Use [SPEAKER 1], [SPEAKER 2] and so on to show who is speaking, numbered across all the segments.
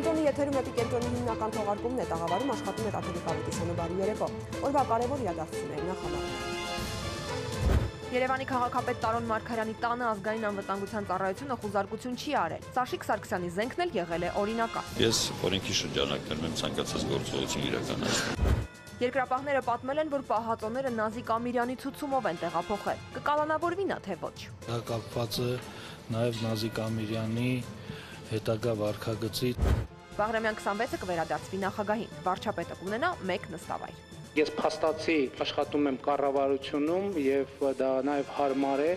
[SPEAKER 1] Էպիկենտրոնի եթերում Էպիկենտրոնի հիմնական թողարկումն է, տաղավարում աշխատում է Տաթևիկ Ավետիսյանը, բարի երեկո։ Օրվա կարևոր իրադարձությունների նախաբանում։ Երևանի քաղաքապետ Տարոն Մարգարյանի տանը ազգային անվտանգության ծառայությունը խուզարկություն չի արել։ Սաշիկ Սարգսյանի զենքն էլ եղել է օրինական։
[SPEAKER 2] Ես օրենքի շրջանակներում եմ ցանկացած գործողություն իրականացնում։
[SPEAKER 1] Երկրապահները պատմել են, որ պահածոները Նազիկ Ամիրյանի ցուցումով են տեղափոխել։ Կկալանավորվի նա թե ոչ։
[SPEAKER 3] Դա կապված է նաև Նազիկ Ամիրյանի հետագա վարքագծի։
[SPEAKER 1] Բաղրամյան 26-ը կվերադարձվի նախագահին։ Վարչապետը կունենա 1 նստավայր։
[SPEAKER 4] Ես փաստացի աշխատում եմ կառավարությունում եւ դա նաեւ հարմար է։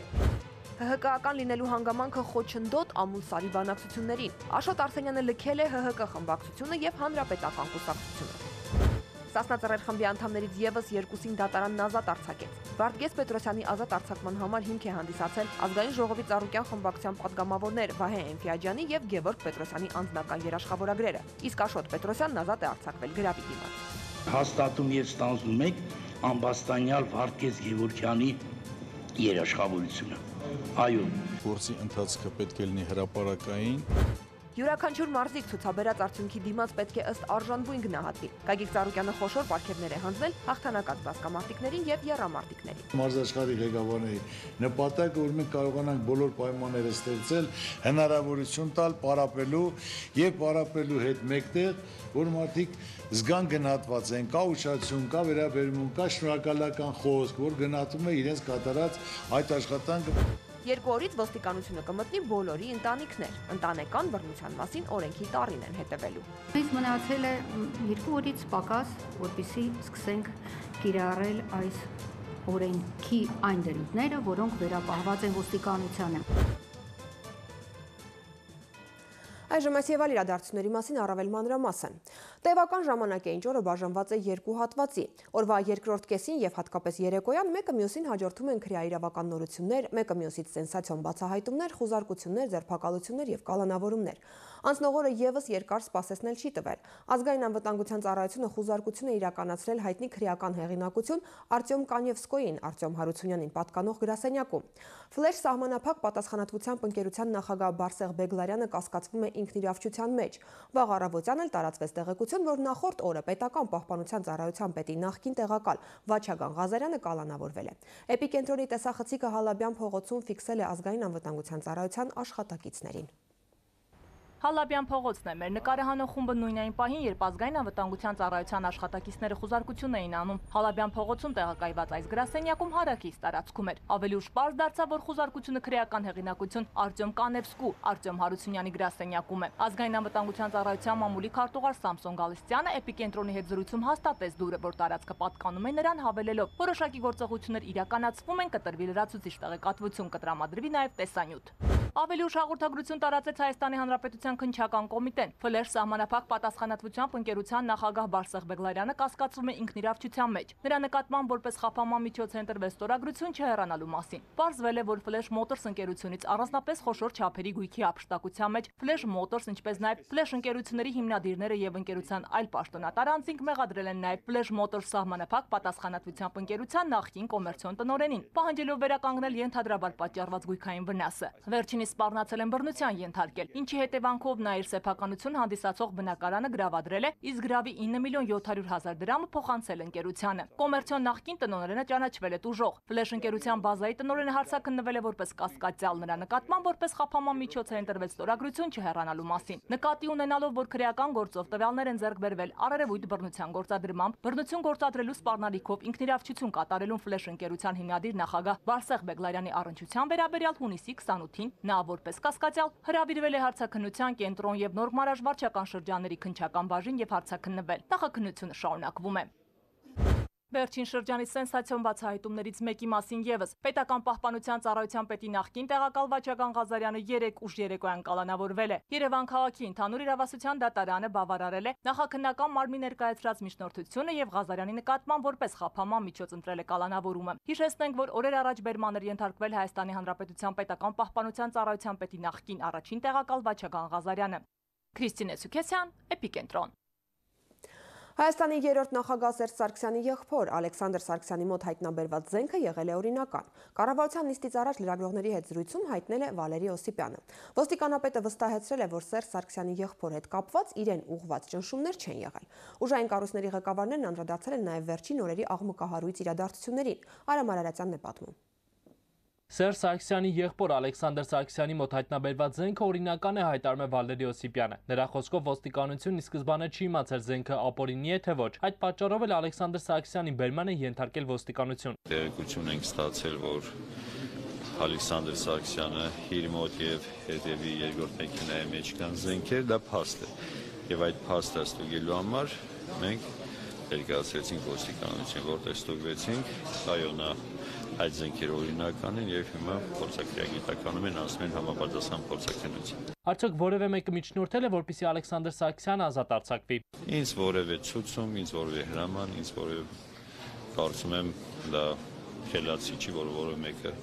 [SPEAKER 1] ՀՀԿ-ական լինելու հանգամանքը խոչընդոտ ամուլսարի բանակցություններին։ Աշոտ Արսենյանը լքել է ՀՀԿ խմբակցությունը եւ հանրապետական կուսակցությունը։ Սասնա Ծռեր խմբի անդամներից եւս 2-ին դատարանն ազատ արձակեց։ Վարդգես Պետրոսյանի ազատ արձակման համար հիմք է հանդիսացել ազգային ժողովի Ծառուկյան խմբակցության պատգամավորներ Վահե Էնֆիաջյանի եւ Գևորգ Պետրոսյանի անձնական երաշխավորագրերը։ Իսկ Աշոտ Պետրոսյանն ազատ է արձակվել գրավի դիմաց։
[SPEAKER 5] Հաստատում եւ ստանձնում եք ամբաստանյալ Վարդգես Գևորգյանի երաշխավորությունը։ Այո,
[SPEAKER 3] Գործի ընթացքը պետք է լինի հրապարակային։
[SPEAKER 1] Յուրաքանչյուր մարզիկ ցուցաբերած արդյունքի դիմաց պետք է ըստ արժանվույն գնահատվի։ Գագիկ Ծառուկյանը խոշոր պարգևներ է հանձնել հաղթանակած բասկամարտիկներին եւ եռամարտիկներին։
[SPEAKER 3] Մարզաշխարհի ղեկավարների նպատակը, որ մենք կարողանանք բոլոր պայմանները ստեղծել, հնարավորություն տալ պարապելու եւ պարապելու հետ մեկտեղ, որ մարդիկ զգան գնահատված են, կա ուշադրություն, կա վերաբերմունք, կա շնորհակալական խոսք, որ գնահատում է իրենց կատարած այդ աշխատանքը։
[SPEAKER 1] 2 օրից ոստիկանությունը կմտնի բոլորի ընտանիքներ։ Ընտանեկան բռնության մասին օրենքի տառին են հետևելու։
[SPEAKER 6] Մեզ մնացել է 2 օրից պակաս, որպեսզի սկսենք կիրառել այս օրենքի այն դրույթները, որոնք վերապահված են ոստիկանությանը։
[SPEAKER 1] Այժմ այս եւ այլ իրադարձությունների մասին առավել մանրամասն։ Տևական ժամանակ է ինչ օրը բաժանված է 2 հատվածի։ Օրվա երկրորդ կեսին եւ հատկապես երեկոյան մեկը մյուսին հաջորդում են քրեաիրավական նորություններ, մեկը մյուսից սենսացիոն բացահայտումներ, խուզարկություններ, ձերբակալություններ եւ կալանավորումներ։ Անցնող օրը եւս երկար սպասեցնել չի տվել։ Ազգային անվտանգության ծառայությունը խուզարկություն է իրականացրել հայտնի քրեական հեղինակություն Արտյոմ Կանևսկոյին, Արտյոմ Հարությունյանին պատկանող գրասենյակում։ Ֆլեշ սահմանափակ պատասխանատվությամբ ընկերության նախագահ Բարսեղ Բեգլարյանը կասկածվում է ինքնիրավչության մեջ։ Վաղ առավոտյան էլ տարածվեց տեղեկություն, որ նախորդ օրը պետական պահպանության ծառայության պետի նախկին տեղակալ Վաչագան Ղազարյանը կալանավորվել է։ Էպիկենտրոնի տեսախցիկը Հալաբյան փողոցում ֆիքսել է ազգային անվտանգության ծառայության աշխատակիցներին։
[SPEAKER 7] Հալաբյան փողոցն է մեր նկարահանող խումբը նույն այն պահին, երբ ազգային անվտանգության ծառայության աշխատակիցները խուզարկություն էին անում։ Հալաբյան փողոցում տեղակայված այս գրասենյակում հարակից տարածքում էր։ Ավելի ուշ պարզ դարձավ, որ խուզարկությունը քրեական հեղինակություն Արտյոմ Կանևսկու, Արտյոմ Հարությունյանի գրասենյակում է։ Ազգային անվտանգության ծառայության մամուլի քարտուղար Սամսոն Գալստյանը Էպիկենտրոնի հետ զրույցում հաստատեց դուրը, որ տարածքը պատկանում է նրան, հավելելով, որոշակի գործողություններ իրականացվում են, կտրվի լրացուցիչ տեղեկատվություն, կտրամադրվի նաև տեսանյութ։ Ավելի ուշ հաղորդագրություն տարածեց Հայաստանի Հանրապետության քննչական կոմիտեն։ Ֆլեշ սահմանափակ պատասխանատվությամբ ընկերության նախագահ Բարսեղ Բեգլարյանը կասկածվում է ինքնիրավչության մեջ։ Նրա նկատմամբ որպես խափանման միջոց է ընտրվել ստորագրություն չհեռանալու մասին։ Պարզվել է, որ Ֆլեշ Մոտորս ընկերությունից առանձնապես խոշոր չափերի գույքի ապշտակության մեջ Ֆլեշ Մոտորս, ինչպես նաև Ֆլեշ ընկերությունների հիմնադիրները եւ ընկերության այլ պաշտոնատար անձինք մեղադրել են նաև Ֆլեշ Մոտորս սահմանափակ պատասխանատվությամբ ընկերության նախկին կոմերցիոն տնօրենին, պահանջելով վերականգնել ենթադրաբար պատճառված գույքային վնասը։ Վերջինիս սպառնացել են բռնության ենթարկել, ինչի հետևանքով նա իր սեփականություն հանդիսացող բնակարանը գրավադրել է, իսկ գրավի 9.700.000 դրամը փոխանցել ընկերությանը։ Կոմերցիոն նախկին տնօրենը ճանաչվել է տուժող։ Ֆլեշ ընկերության բազայի տնօրենը հարցաքննվել է որպես կասկածյալ, նրա նկատմամբ որպես խափանման միջոց է ընտրվել ստորագրություն չհեռանալու մասին։ Նկատի ունենալով, որ քրեական գործով տվյալներ են ձեռք բերվել առերևույթ բռնության գործադրմամբ, բռնություն գործադրելու սպառնալիքով ինքնիրավչություն կատարելուն Ֆլեշ ընկերության հիմնադիր նախագահ Բարսեղ Բեգլարյանի առնչության վերաբերյալ հունիսի 28-ին նա որպես կասկածյալ հրավիրվել է հարցաքննության կենտրոն եւ Նոր Մարաժ վարչական շրջանների քննչական բաժին եւ հարցաքննվել։ Նախաքննությունը շարունակվում է։ Վերջին շրջանի սենսացիոն բացահայտումներից մեկի մասին եւս պետական պահպանության ծառայության պետի նախկին տեղակալ Վաչագան Ղազարյանը 3 ուշ երեկոյան կալանավորվել է։ Երևան քաղաքի ընդհանուր իրավասության դատարանը բավարարել է նախաքննական մարմնի ներկայացրած միջնորդությունը եւ Ղազարյանի նկատմամբ որպես խափանման միջոց ընտրել է կալանավորումը։ Հիշեցնենք, որ օրեր առաջ բերման էր ենթարկվել Հայաստանի Հանրապետության պետական պահպանության ծառայության պետի նախկին առաջին տեղակալ Վաչագան Ղազարյանը։ Քրիստինե Սուքեսյան, Էպիկենտրոն։
[SPEAKER 1] Հայաստանի երրորդ նախագահ Սերժ Սարգսյանի եղբոր Ալեքսանդր Սարգսյանի մոտ հայտնաբերված զենքը եղել է օրինական։ Կառավարության նիստից առաջ լրագրողների հետ զրույցում հայտնել է Վալերի Օսիպյանը։ Ոստիկանապետը վստահեցրել է, որ Սերժ Սարգսյանի եղբոր հետ կապված իրեն ուղղված ճնշումներ չեն եղել։ Ուժային կառույցների ղեկավարներն անդրադարձել են նաև վերջին օրերի աղմկահարույց իրադարձություններին։ Արամ Արարատյանն է պատմում։
[SPEAKER 8] Սերժ Սարգսյանի եղբոր Ալեքսանդր Սարգսյանի մոտ հայտնաբերված զենքը օրինական է, հայտարարում է Վալերի Օսիպյանը։ Նրա խոսքով ոստիկանությունն ի սկզբանե չի իմացել զենքը ապօրինի է թե ոչ։ Այդ պատճառով էլ Ալեքսանդր Սարգսյանի բերման է ենթարկել ոստիկանություն։
[SPEAKER 2] Տեղեկություն ենք ստացել, որ Ալեքսանդր Սարգսյանը իր մոտ եւ հետեւի երկրորդ մեքենայի մեջ կան զենքեր, դա փաստ է։ Եվ այդ փաստը ստուգելու համար մենք ներկայացրեցինք ոստիկանություն, որտեղ ստուգվեցինք, այո, նա այդ զենքերը օրինական են եւ հիմա փորձաքրեագիտականում են ասում են համապատասխան փորձաքննություն։
[SPEAKER 8] Արդյոք որևէ մեկը միջնորդել է, որպեսզի Ալեքսանդր Սարգսյանը ազատ արձակվի։
[SPEAKER 2] Ինձ որևէ ցուցում, ինձ որևէ հրաման, ինձ որևէ կարծում եմ դա խելացի չի, որ որևէ մեկը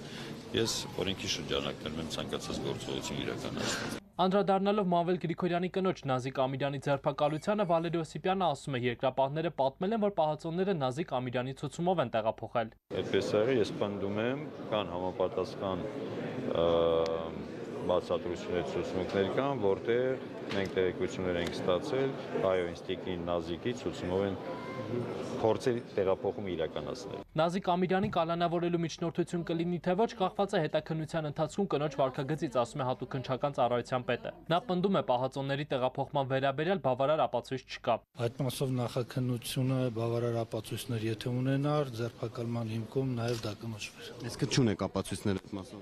[SPEAKER 2] ես օրենքի շրջանակներում եմ ցանկացած գործողություն իրականացնում։
[SPEAKER 8] Անդրադառնալով Մանվել Գրիգորյանի կնոջ Նազիկ Ամիրյանի ձերբակալությանը Վալերի Օսիպյանը ասում է, երկրապահները պատմել են, որ պահածոները Նազիկ Ամիրյանի ցուցումով են տեղափոխել։
[SPEAKER 2] Այդպես է, ես պնդում եմ, կան համապատասխան բացատրություններ, ցուցմունքներ կան, որտեղ մենք տեղեկություններ ենք ստացել, այո, ինստիտուտի Նազիկի ցուցումով են փորձել տեղափոխումը իրականացնել։
[SPEAKER 8] Նազիկ Ամիրյանի կալանավորելու միջնորդություն կլինի թե ոչ, կախված է հետաքննության ընթացքում կնոջ վարքագծից, ասում է հատուկ քննչական ծառայության պետը։ Նա պնդում է, պահածոների տեղափոխման վերաբերյալ բավարար ապացույց չկա։
[SPEAKER 9] Այդ մասով նախաքննությունը բավարար ապացույցներ եթե ունենար, ձերբակալման հիմքում նաև դա կնշվեր։
[SPEAKER 10] Իսկ չունեք ապացույցներ այդ մասով։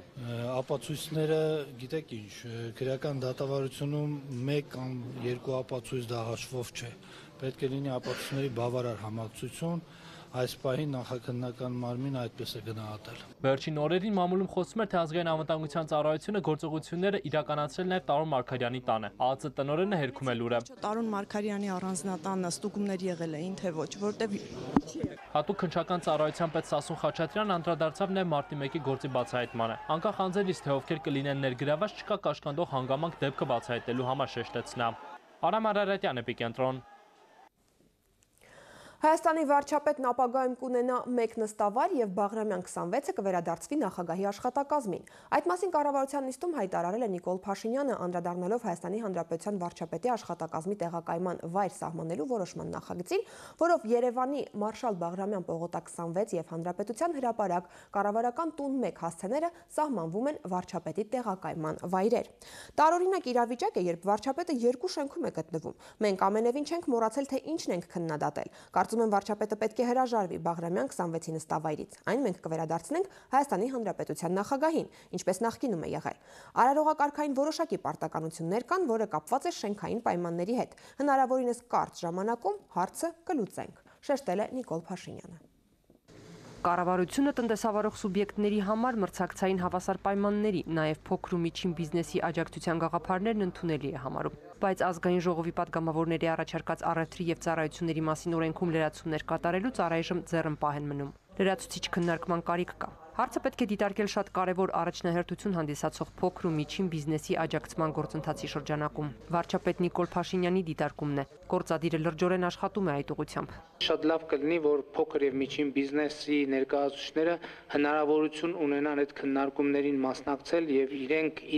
[SPEAKER 9] Ապացույցները, գիտեք ինչ, քրեական դատավարությունում 1 կամ 2 ապացույց դա հաշվով չէ։ Պետք է լինի ապացույցների բավարար համակցություն, այս պահին նախաքննական մարմինը այդպես է գնահատել։
[SPEAKER 8] Վերջին օրերին մամուլում խոսում էր, թե ազգային անվտանգության ծառայությունը գործողությունները իրականացրել նաև Տարոն Մարգարյանի տանը։ ԱԱԾ տնօրենը հերքում է լուրը։
[SPEAKER 11] Տարոն Մարգարյանի առանձնատանը ստուգումներ եղել էին, թե ոչ, որտեղ
[SPEAKER 8] Հատուկ քննչական ծառայության պետ Սասուն Խաչատրյանն անդրադարձավ նաև մարտի 1-ի գործի բացահայտմանը։ Անկախ անձերից, թե ովքեր կլինեն ներգրաված, չկա կաշկանդող հանգամանք դեպքը բացահայտելու համար, շեշտեց նա։ Արամ Արարատյան, Էպիկենտրոն։
[SPEAKER 1] Հայաստանի վարչապետն ապագայում կունենա 1 նստավայր եւ Բաղրամյան 26-ը կվերադարձվի նախագահի աշխատակազմին։ Այդ մասին կառավարության նիստում հայտարարել է Նիկոլ Փաշինյանը, անդրադառնալով Հայաստանի Հանրապետության վարչապետի աշխատակազմի տեղակայման վայր սահմանելու որոշման նախագծին, որով Երևանի Մարշալ Բաղրամյան պողոտա 26 եւ Հանրապետության հրապարակ կառավարական տուն 1 հասցեները սահմանվում են վարչապետի տեղակայման վայրեր։ Տարօրինակ իրավիճակ է, երբ վարչապետը 2 շենքում է գտնվում։ Մենք ամենևին չենք մոռացել, թե ինչն ենք քննադատել։ Կարծում եմ վարչապետը պետք է հրաժարվի Բաղրամյան 26-ի նստավայրից։ Այն մենք կվերադարձնենք Հայաստանի Հանրապետության նախագահին, ինչպես նախկինում է եղել։ Արարողակարգային որոշակի պարտականություններ կան, որը կապված է շենքային պայմանների հետ։ Հնարավորինս կարճ ժամանակում հարցը կլուծենք, շեշտել է Նիկոլ Փաշինյանը։
[SPEAKER 12] Կառավարությունը տնտեսավարող սուբյեկտների համար մրցակցային հավասար պայմանների, նաև փոքր ու միջին բիզնեսի աջակցության գաղափարներն ընդունելի է համարում։ Բայց ազգային ժողովի պատգամավորների առաջարկած առևտրի եւ ծառայությունների մասին օրենքում լրացումներ կատարելուց առայժմ ձեռնպահ են մնում։ Լրացուցիչ քննարկման կարիք կա։ Հարցը պետք է դիտարկել շատ կարևոր առաջնահերթություն հանդիսացող փոքր ու միջին բիզնեսի աջակցման գործընթացի շրջանակում։ Վարչապետ Նիկոլ Փաշինյանի դիտարկումն է։ Գործադիրը լրջորեն աշխատում է այդ ուղղությամբ։
[SPEAKER 4] Շատ լավ կլինի, որ փոքր եւ միջին բիզնեսի ներկայացուցիչները հնարավորություն ունենան այդ քննարկումներին մասնակցել եւ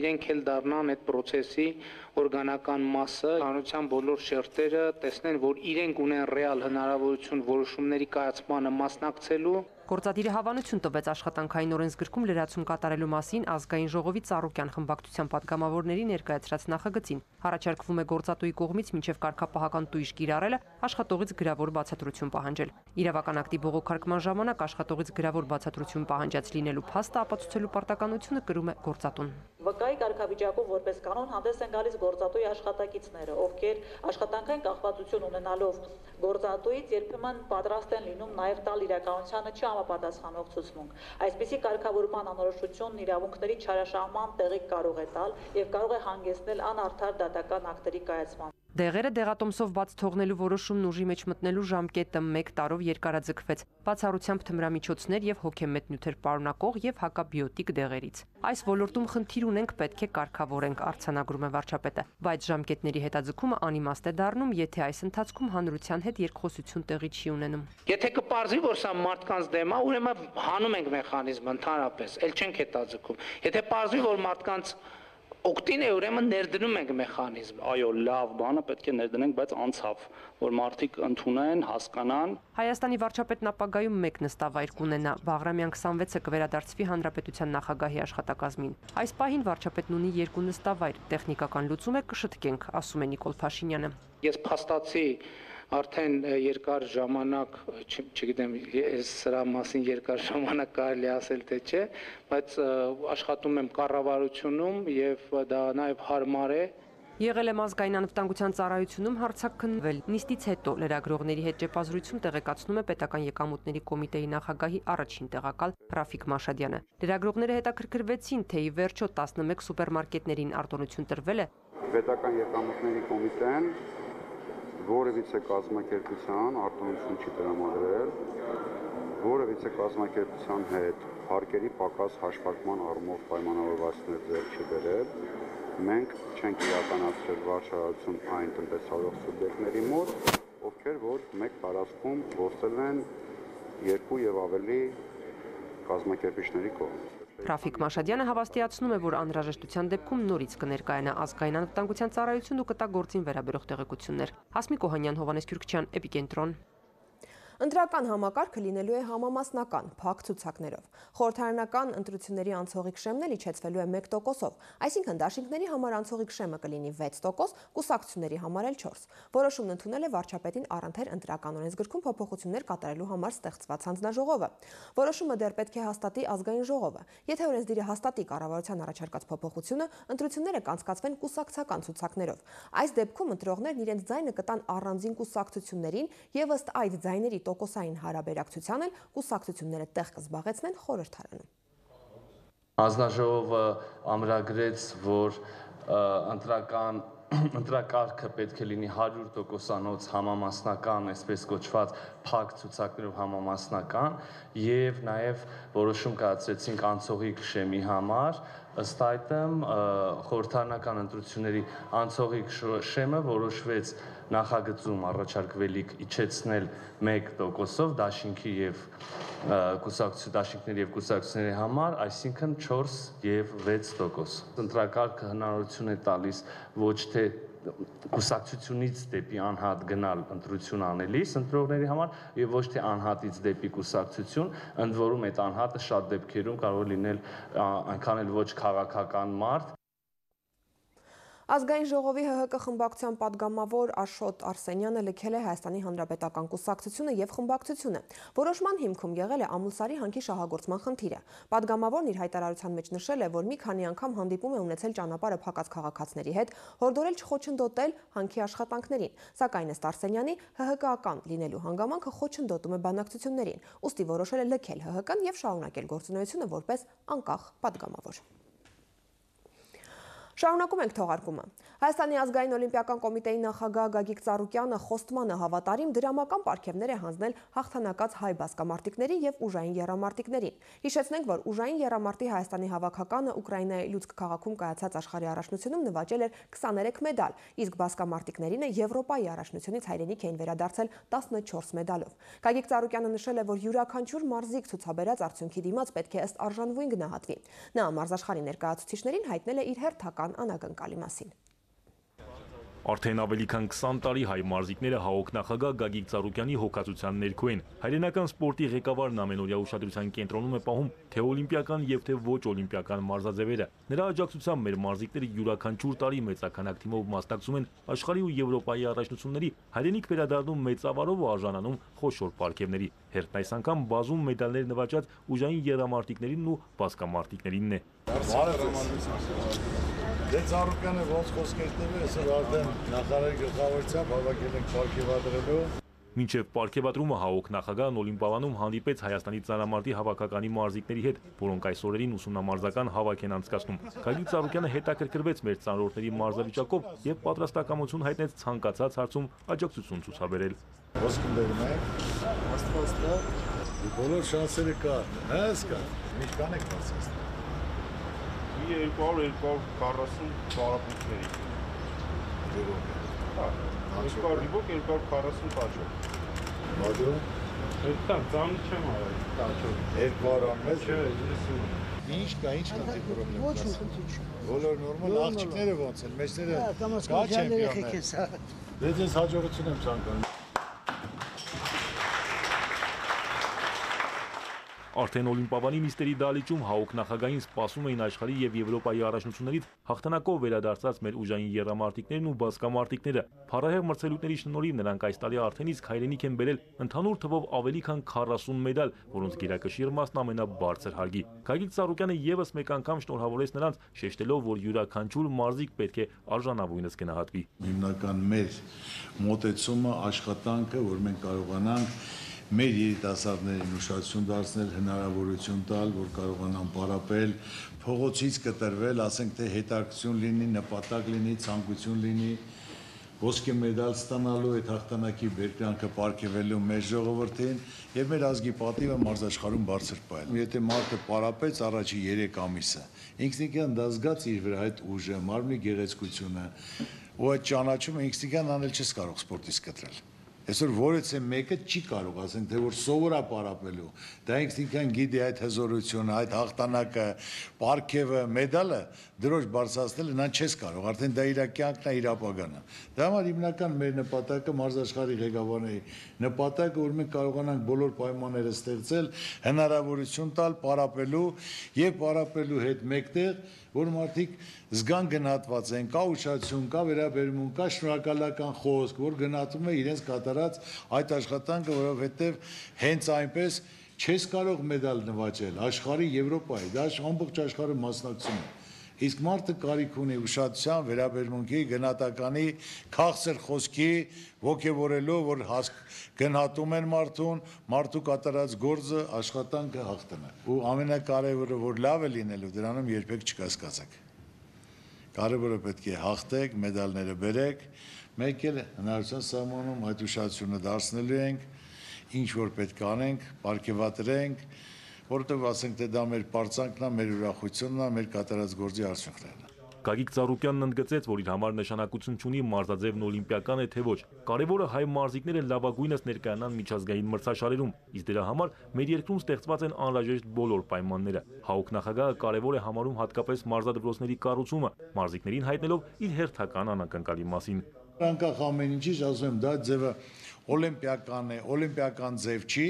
[SPEAKER 4] իրենք էլ դառնան այդ process-ի օրգանական մասը, հանրության բոլոր շերտերը տեսնեն, որ իրենք ունեն ռեալ հնարավորություն որոշումների կայացմանը մասնակցելու։
[SPEAKER 12] Գործադիրը հավանություն տվեց աշխատանքային օրենսգրքում լրացում կատարելու մասին ազգային ժողովի Ծառուկյան խմբակցության պատգամավորների ներկայացրած նախագծին։ Առաջարկվում է գործատուի կողմից մինչև կարգապահական տույժ կիրառելը աշխատողից գրավոր բացատրություն պահանջել։ Իրավական ակտի բողոքարկման ժամանակ աշխատողից գրավոր բացատրություն պահանջած լինելու փաստը ապացուցելու պարտականությունը կրում է գործատուն։
[SPEAKER 13] Վկայի կարգավիճակում որպես կանոն հանդես են գալիս գործատուի աշխատակիցները, ովքեր աշխատանքային կախվածություն ունենալով գործատուից երբեմն պատրաստ են լինում նաև տալ իրականությանը չհամապատասխանող ցուցմունք։ Այսպիսի կարգավորման անորոշությունն իրավունքների չարաշահման տեղիք կարող է տալ եւ կարող է հանգեցնել անարդար դատական ակտերի կայացման։
[SPEAKER 12] Դեղերը դեղատոմսով բաց թողնելու որոշումն ուժի մեջ մտնելու ժամկետը 1 տարով երկարաձգվեց, բացառությամբ թմրամիջոցներ եւ հոգեմետ նյութեր պարունակող եւ հակաբիոտիկ դեղերից։ Այս ոլորտում խնդիր ունենք, պետք է կարգավորենք, արձանագրում է վարչապետը, բայց ժամկետների հետաձգումը անիմաստ է դառնում, եթե այս ընթացքում հանրության հետ երկխոսություն տեղի չի ունենում։
[SPEAKER 4] Եթե կպարզվի, որ սա մարդկանց դեմ է, ուրեմն հանում ենք մեխանիզմը ընդհանրապես, ել չենք հետաձգում։ Եթե պարզվի, որ մարդկանց օգտին է, ուրեմն ներդնում ենք մեխանիզմը։
[SPEAKER 14] Այո, լավ բանը պետք է ներդնենք, բայց անցավ, որ մարդիկ ընդունեն, հասկանան։
[SPEAKER 12] Հայաստանի վարչապետն ապագայում մեկ նստավայր կունենա, Բաղրամյան 26-ը կվերադարձվի հանրապետության նախագահի աշխատակազմին։ Այս պահին վարչապետն ունի 2 նստավայր, տեխնիկական լուծում է կշտկենք, ասում է Նիկոլ Փաշինյանը։
[SPEAKER 4] Ես փաստացի արդեն երկար ժամանակ, չգիտեմ, սրա մասին երկար ժամանակ կարելի ասել թե չէ, բայց աշխատում եմ կառավարությունում եւ դա նաեւ հարմար է։
[SPEAKER 12] Եղել եմ ազգային անվտանգության ծառայությունում հարցաքննվել։ Նիստից հետո լրագրողների հետ ճեպազրույցում տեղեկացնում է պետական եկամուտների կոմիտեի նախագահի առաջին տեղակալ Ռաֆիկ Մաշադյանը։ Լրագրողները հետաքրքրվեցին, թե ի վերջո 11 սուպերմարկետներին արտոնություն տրվել է։
[SPEAKER 15] Պետական եկամուտների կոմիտեն որևիցե կազմակերպության արտոնություն չի տրամադրել, որևիցե կազմակերպության հետ հարկերի պակաս հաշվարկման առումով պայմանավորվածներ ձեռք չի բերել, մենք չենք իրականացրել վարչարարություն այն տնտեսավարող սուբյեկտների մոտ, ովքեր որ մեկ տարածքում գործել են 2 եւ ավելի կազմակերպիչների կողմից։
[SPEAKER 12] Ռաֆիկ Մաշադյանը հավաստիացնում է, որ անհրաժեշտության դեպքում նորից կներկայանա ազգային անվտանգության ծառայություն ու կտա գործին վերաբերող տեղեկություններ։ Հասմիկ Օհանյան, Հովհաննես Քյուրքչյան, Էպիկենտրոն։
[SPEAKER 1] Ընտրական համակարգը լինելու է համամասնական, փակ ցուցակներով։ Խորհրդարանական ընտրությունների անցողիկ շեմն էլ իջեցվելու է 1%-ով, այսինքն դաշինքների համար անցողիկ շեմը կլինի 6%, կուսակցությունների համար էլ 4%։ Որոշումն ընդունել է վարչապետին առընթեր ընտրական օրենսգրքում փոփոխություններ կատարելու համար ստեղծված հանձնաժողովը։ Որոշումը դեռ պետք է հաստատի ազգային ժողովը։ Եթե օրենսդիրը հաստատի կառավարության առաջարկած փոփոխությունը, ընտրությունները կանցկացվեն կուսակցական ցուցակներով։ Այս դեպքում ընտրողներն իրենց ձայնը կտան առանձին կուսակցություններին եւ ըստ այդ ձայների տոկոսային հարաբերակցության էլ կուսակցությունները տեղ կզբաղեցնեն խորհրդարանում։
[SPEAKER 16] Հանձնաժողովը ամրագրեց, որ ընտրակարգը պետք է լինի 100%-անոց համամասնական, այսպես կոչված փակ ցուցակներով համամասնական եւ նաեւ որոշում կայացրեցինք անցողիկ շեմի համար, ըստ այդմ խորհրդարանական ընտրությունների անցողիկ շեմը որոշվեց նախագծում առաջարկվելիք իջեցնել 1%-ով դաշինքի եւ դաշինքների եւ կուսակցությունների համար, այսինքն 4 եւ 6%։ Ընտրակարգը հնարավորություն է տալիս ոչ թե կուսակցությունից դեպի անհատ գնալ ընտրություն անելիս ընտրողների համար եւ ոչ թե անհատից դեպի կուսակցություն, ընդ որում այդ անհատը շատ դեպքերում կարող է լինել այնքան էլ ոչ քաղաքական մարդ։
[SPEAKER 1] Ազգային ժողովի ՀՀԿ խմբակցության падգամավոր Աշոտ Արսենյանը լքել է Հայաստանի Հանրապետական կուսակցությունը եւ խմբակցությունը։ Որոշման հիմքում եղել է Ամուլսարի հանքի շահագործման խնդիրը։ Падգամավորն իր հայտարարության մեջ նշել է, որ մի քանի անգամ հանդիպում է ունեցել ճանապարհը փակած քաղաքացիների հետ, հորդորել չխոչընդոտել հանքի աշխատանքներին։ Սակայն ըստ Արսենյանի ՀՀԿ-ական լինելու հանգամանքը խոչընդոտում է բանակցություններին։ Ուստի որոշել է լքել ՀՀԿ-ն եւ շարունակել գործունեությունը որպես անկախ падգամավոր։ Շարունակում ենք թողարկումը։ Հայաստանի ազգային օլիմպիական կոմիտեի նախագահ Գագիկ Ծառուկյանը խոստմանը հավատարիմ դրամական պարգևներ է հանձնել հաղթանակած հայ բասկամարտիկների եւ ուժային եռամարտիկներին։ Հիշեցնենք, որ ուժային եռամարտի Հայաստանի հավաքականը Ուկրաինայի Լուցկ քաղաքում կայացած աշխարհի առաջնությունում նվաճել էր 23 մեդալ, իսկ բասկամարտիկներինը Եվրոպայի առաջնությունից հայրենիք էին վերադարձել 14 մեդալով։ Գագիկ Ծառուկյանը նշել է, որ յուրաքանչյուր մարզիկ ցուցաբերած արդյունքի դիմաց պետք է ըստ արժանվույն գնահատվի։ Նա մարզաշխարհի ներկայացուցիչներին հայտնել է իր հերթական անակնկալի մասին։
[SPEAKER 17] Արդեն ավելի քան 20 տարի հայ մարզիկները ՀԱՕԿ նախագահ Գագիկ Ծառուկյանի հոգացության ներքո են։ Հայրենական սպորտի ղեկավարն ամենօրյա ուշադրության կենտրոնում է պահում թե օլիմպիական եւ թե ոչ օլիմպիական մարզաձևերը։ Նրա աջակցությամբ մեր մարզիկները յուրաքանչյուր տարի մեծականակ թիմով մասնակցում են աշխարհի ու Եվրոպայի առաջնությունների, հայրենիք վերադառնում մեծավարով ու արժանանում խոշոր պարգևների։ Հերթն այս անգամ բազում մեդալներ նվաճած ուժային եռամարտիկներին ու բասկամարտիկներինն է։
[SPEAKER 3] Դե Ծառուկյանը ոնց խոսքեր տվել, այսօր արդեն նախարարի գլխավորությամբ հավաքել ենք պարգևադրելու
[SPEAKER 17] Մինչև պարգևատրումը ՀԱՕԿ նախագահն Օլիմպիադանում հանդիպեց Հայաստանի ծանրամարտի հավաքականի մարզիկների հետ, որոնք այս օրերին ուսումնամարզական հավաք են անցկացնում։ Գագիկ Ծառուկյանը հետաքրքրվեց մեր ծանրորդների մարզավիճակով եւ պատրաստակամություն հայտնեց ցանկացած հարցում աջակցություն ցուցաբերել։
[SPEAKER 3] Ոսկին դերում եք, աստվածը, բոլոր շանսերը կա, հես կա, ինչ կանեք բարձրացնել։
[SPEAKER 18] 200-240 բարապունքների։ Ռիվոկ 240 տաճով։
[SPEAKER 3] Մադրո։
[SPEAKER 18] Այդտեղ ծամի չեմ արել տաճով։
[SPEAKER 3] 200 անմեջ։
[SPEAKER 18] Չէ, 90։
[SPEAKER 3] Ինչ կա խնդիր
[SPEAKER 18] Ոչ խնդիր չկա։
[SPEAKER 3] Բոլոր նորմալ աղջիկները ոնց են, մեջները կա չեմպիոններ։ Դե ձեզ հաջողություն եմ ցանկանում։
[SPEAKER 17] Արդեն Օլիմպիադանի նիստերի դահլիճում ՀԱՕԿ նախագահին սպասում էին աշխարհի եւ Եվրոպայի առաջնություններից հաղթանակով վերադարձած մեր ուժային եռամարտիկներն ու բասկամարտիկները։ Փառահեղ մրցելույթների շնորհիվ նրանք այս տարի արդեն իսկ հայրենիք են բերել ընդհանուր թվով ավելի քան 40 մեդալ, որոնց գերակշիռ մասն ամենաբարձր հարգի։ Գագիկ Ծառուկյանը եւս մեկ անգամ շնորհավորեց նրանց, շեշտելով, որ յուրաքանչյուր մարզիկ պետք է արժանավույնս գնահատվի։
[SPEAKER 3] Հիմնական մեր մոտեցումը, աշխատանքը, որ մենք կարողանանք մեր երիտասարդներին ուշադրություն դարձնել, հնարավորություն տալ, որ կարողանան պարապել, փողոցից կտրվել, ասենք թե հետաքրքրություն լինի, նպատակ լինի, ցանկություն լինի, ոսկե մեդալ ստանալու, այդ հաղթանակի բերկրանքը պարգևելու մեր ժողովրդին եւ մեր ազգի պատիվը մարզաշխարհում բարձր պահել։ Եթե մարդը պարապեց առաջի 3 ամիսը, ինքնիկյան դա զգաց իր վրա այդ ուժը, մարմնի գեղեցկությունը, ու այդ ճանաչումը ինքնիկյան անել չես կարող սպորտից կտրել։ Այսօր որից է մեկը չի կարող, ասենք թե որ սովորա պարապելու, դա ինքնիկյան գիտի այդ հզորությունը, այդ հաղթանակը, պարգևը, մեդալը դրոշ բարձրացնել նրան չես կարող, արդեն դա իր կյանքն է, իր ապագան է։ Դա համար հիմնական մեր նպատակը մարզաշխարհի ղեկավարների նպատակը, որ մենք կարողանանք բոլոր պայմանները ստեղծել, հնարավորություն տալ պարապելու եւ պարապելու հետ մեկտեղ, որ մարդիկ զգան գնահատված են, կա ուշադրություն, կա վերաբերմունք, կա շնորհակալական խոսք, որ գնահատում է իրենց կատարած այդ աշխատանքը, որովհետև հենց այնպես չես կարող մեդալ նվաճել աշխարհի, Եվրոպայի, դա ամբողջ աշխարհը մասնակցում է։ Իսկ մարդը կարիք ունի ուշադրության, վերաբերմունքի, գնահատականի, քաղցր խոսքի, ոգևորելով, որ գնահատում են մարդու կատարած գործը, աշխատանքը հաղթանակ։ Ու ամենակարևորը, որ լավ է լինելու, դրանում երբեք չկասկածեք։ Կարևորը պետք է հաղթեք, մեդալները բերեք, մեկ էլ հնարավորության սահմանում այդ ուշադրությունը դարձնելու ենք, ինչ որ պետք անենք, պարգևատրենք, որովհետև ասենք թե դա մեր պարծանքն է, մեր ուրախությունն է, մեր կատարած գործի արդյունքներն է։
[SPEAKER 17] Գագիկ Ծառուկյանն ընդգծեց, որ իր համար նշանակություն չունի մարզաձևն օլիմպիական է թե ոչ։ Կարևորը հայ մարզիկները լավագույնս ներկայանան միջազգային մրցաշարերում, իսկ դրա համար մեր երկրում ստեղծված են անհրաժեշտ բոլոր պայմանները։ ՀԱՕԿ նախագահը կարևոր է համարում հատկապես մարզադպրոցների կառուցումը, մարզիկներին հայտնելով իր հերթական անակնկալի մասին։
[SPEAKER 3] Անկախ ամեն ինչից ասում եմ, դա ձևը օլիմպիական է, օլիմպիական ձև չի,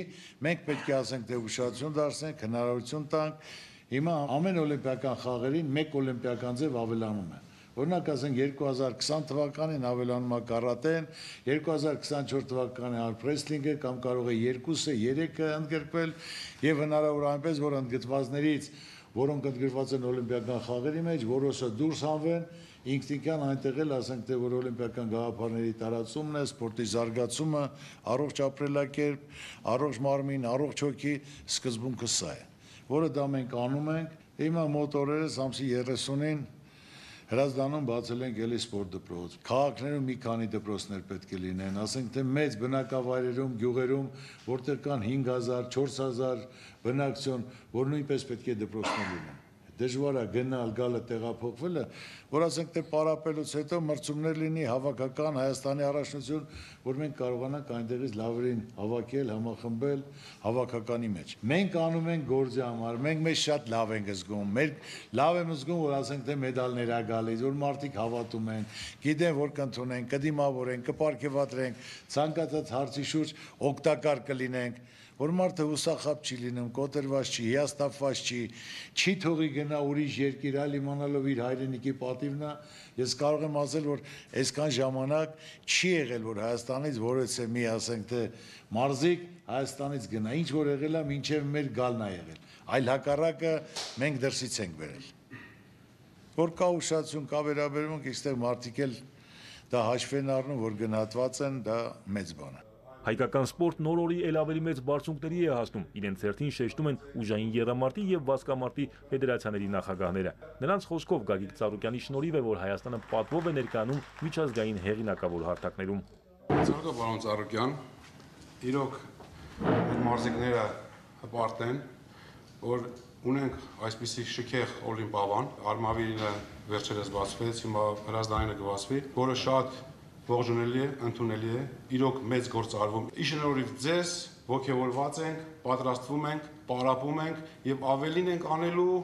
[SPEAKER 3] մենք պետք է ասենք թե ուշադրություն դարձնենք, հնարավորություն տանք։ Հիմա ամեն օլիմպիական խաղերին մեկ օլիմպիական ձև ավելանում է։ Օրինակ ասենք 2020 թվականին ավելանում է կարատեն, 2024 թվականին արմրեսլինգը կամ կարող է 2-ը, 3-ը ընդգրկվել եւ հնարավոր այնպես որ ընդգրկվածներից, որոնք ընդգրկված են օլիմպիական խաղերի մեջ, որոշը դուրս հանվեն, ինքնիկյան այնտեղ էլ ասենք թե որ օլիմպիական գաղափարների տարածումն է, սպորտի զարգացումը, առողջ ապրելակերպ, առողջ մարմին, առողջ հոգի սկզբունքը սա է, որը դա մենք անում ենք։ Հիմա մոտ օրերս ամսի 30-ին Հրազդանում բացել ենք էլի սպորտ դպրոց։ Քաղաքներում մի քանի դպրոցներ պետք է լինեն, ասենք թե մեծ բնակավայրերում, գյուղերում, որտեղ կան 5000, 4000 բնակչություն, որ նույնպես պետք է դպրոցներ լինեն։ Դժվար է գնալ, գալը, տեղափոխվելը, որ ասենք թե պարապելուց հետո մրցումներ լինի հավաքական Հայաստանի առաջնություն, որ մենք կարողանանք այնտեղից լավերին հավաքել, համախմբել հավաքականի մեջ։ Մենք անում ենք գործի համար, մենք մեզ շատ լավ ենք զգում, մեր լավ եմ զգում, որ ասենք թե մեդալներ ա գալիս, որ մարդիկ հավատում են, գիտեն, որ կընդունեն, կդիմավորեն, կպարգևատրենք, ցանկացած հարցի շուրջ օգտակար կլինենք, որ մարդը հուսախաբ չի լինում, կոտրված չի, հիասթափված չի թողի գնա ուրիշ երկիր, այլ իմանալով իր հայրենիքի պատիվն է։ Ես կարող եմ ասել, որ այսքան ժամանակ չի եղել, որ Հայաստանից որևէ մի ասենք թե մարզիկ Հայաստանից գնա, ինչ որ եղել է, մինչև մեր գալն է եղել, այլ հակառակը մենք դրսից ենք բերել։ Որ կա ուշադրություն, կա վերաբերմունք, այստեղ մարդիկ էլ դա հաշվեն առնում, որ գնահատված են, դա մեծ բան է։
[SPEAKER 17] Հայկական սպորտն օր-օրի էլ ավելի մեծ բարձունքների է հասնում, իրենց հերթին շեշտում են ուժային եռամարտի եւ վազկամարտի ֆեդերացիաների նախագահները։ Նրանց խոսքով Գագիկ Ծառուկյանի շնորհիվ է, որ Հայաստանը պատվով է ներկայանում միջազգային հեղինակավոր հարթակներում։
[SPEAKER 19] Ցանկացած պարոն Ծառուկյան, իրոք մարզիկները հպարտ են, որ ունենք այսպիսի շքեղ օլիմպիադան, Արմավիրը վերջերս բացվեց, հիմա հրազդանինը կբացվի, որը շատ ողջունելի է, ընդունելի է, իրոք մեծ գործ արվում։ Իշնորհիվ ձեզ ողջավորված ենք, պատրաստվում ենք, պարապում ենք եւ ավելին ենք անելու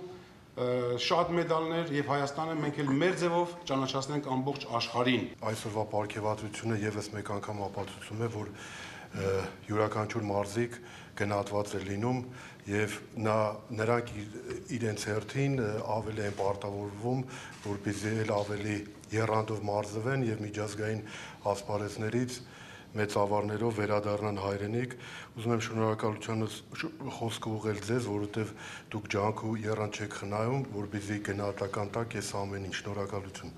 [SPEAKER 19] շատ մեդալներ եւ Հայաստանը մենք էլ մեր ձևով ճանաչացնենք ամբողջ աշխարհին։
[SPEAKER 20] Այսօրվա պարգևատրությունը եւս մեկ անգամ ապացուցում է, որ յուրաքանչյուր մարզիկ գնահատված է լինում եւ նրանք իրենց հերթին ավելի են պարտավորվում, որպեսզի էլ ավելի եռանդով մարզվեն եւ միջազգային ասպարեզներից մեծ ավարներով վերադառնան հայրենիք։ Ուզում եմ շնորհակալությանս խոսքը ուղղել ձեզ, որովհետեւ դուք ջանք ու եռանդ չեք խնայում, որպեսզի գնահատական տակ այս ամեն ինչ։ Շնորհակալություն։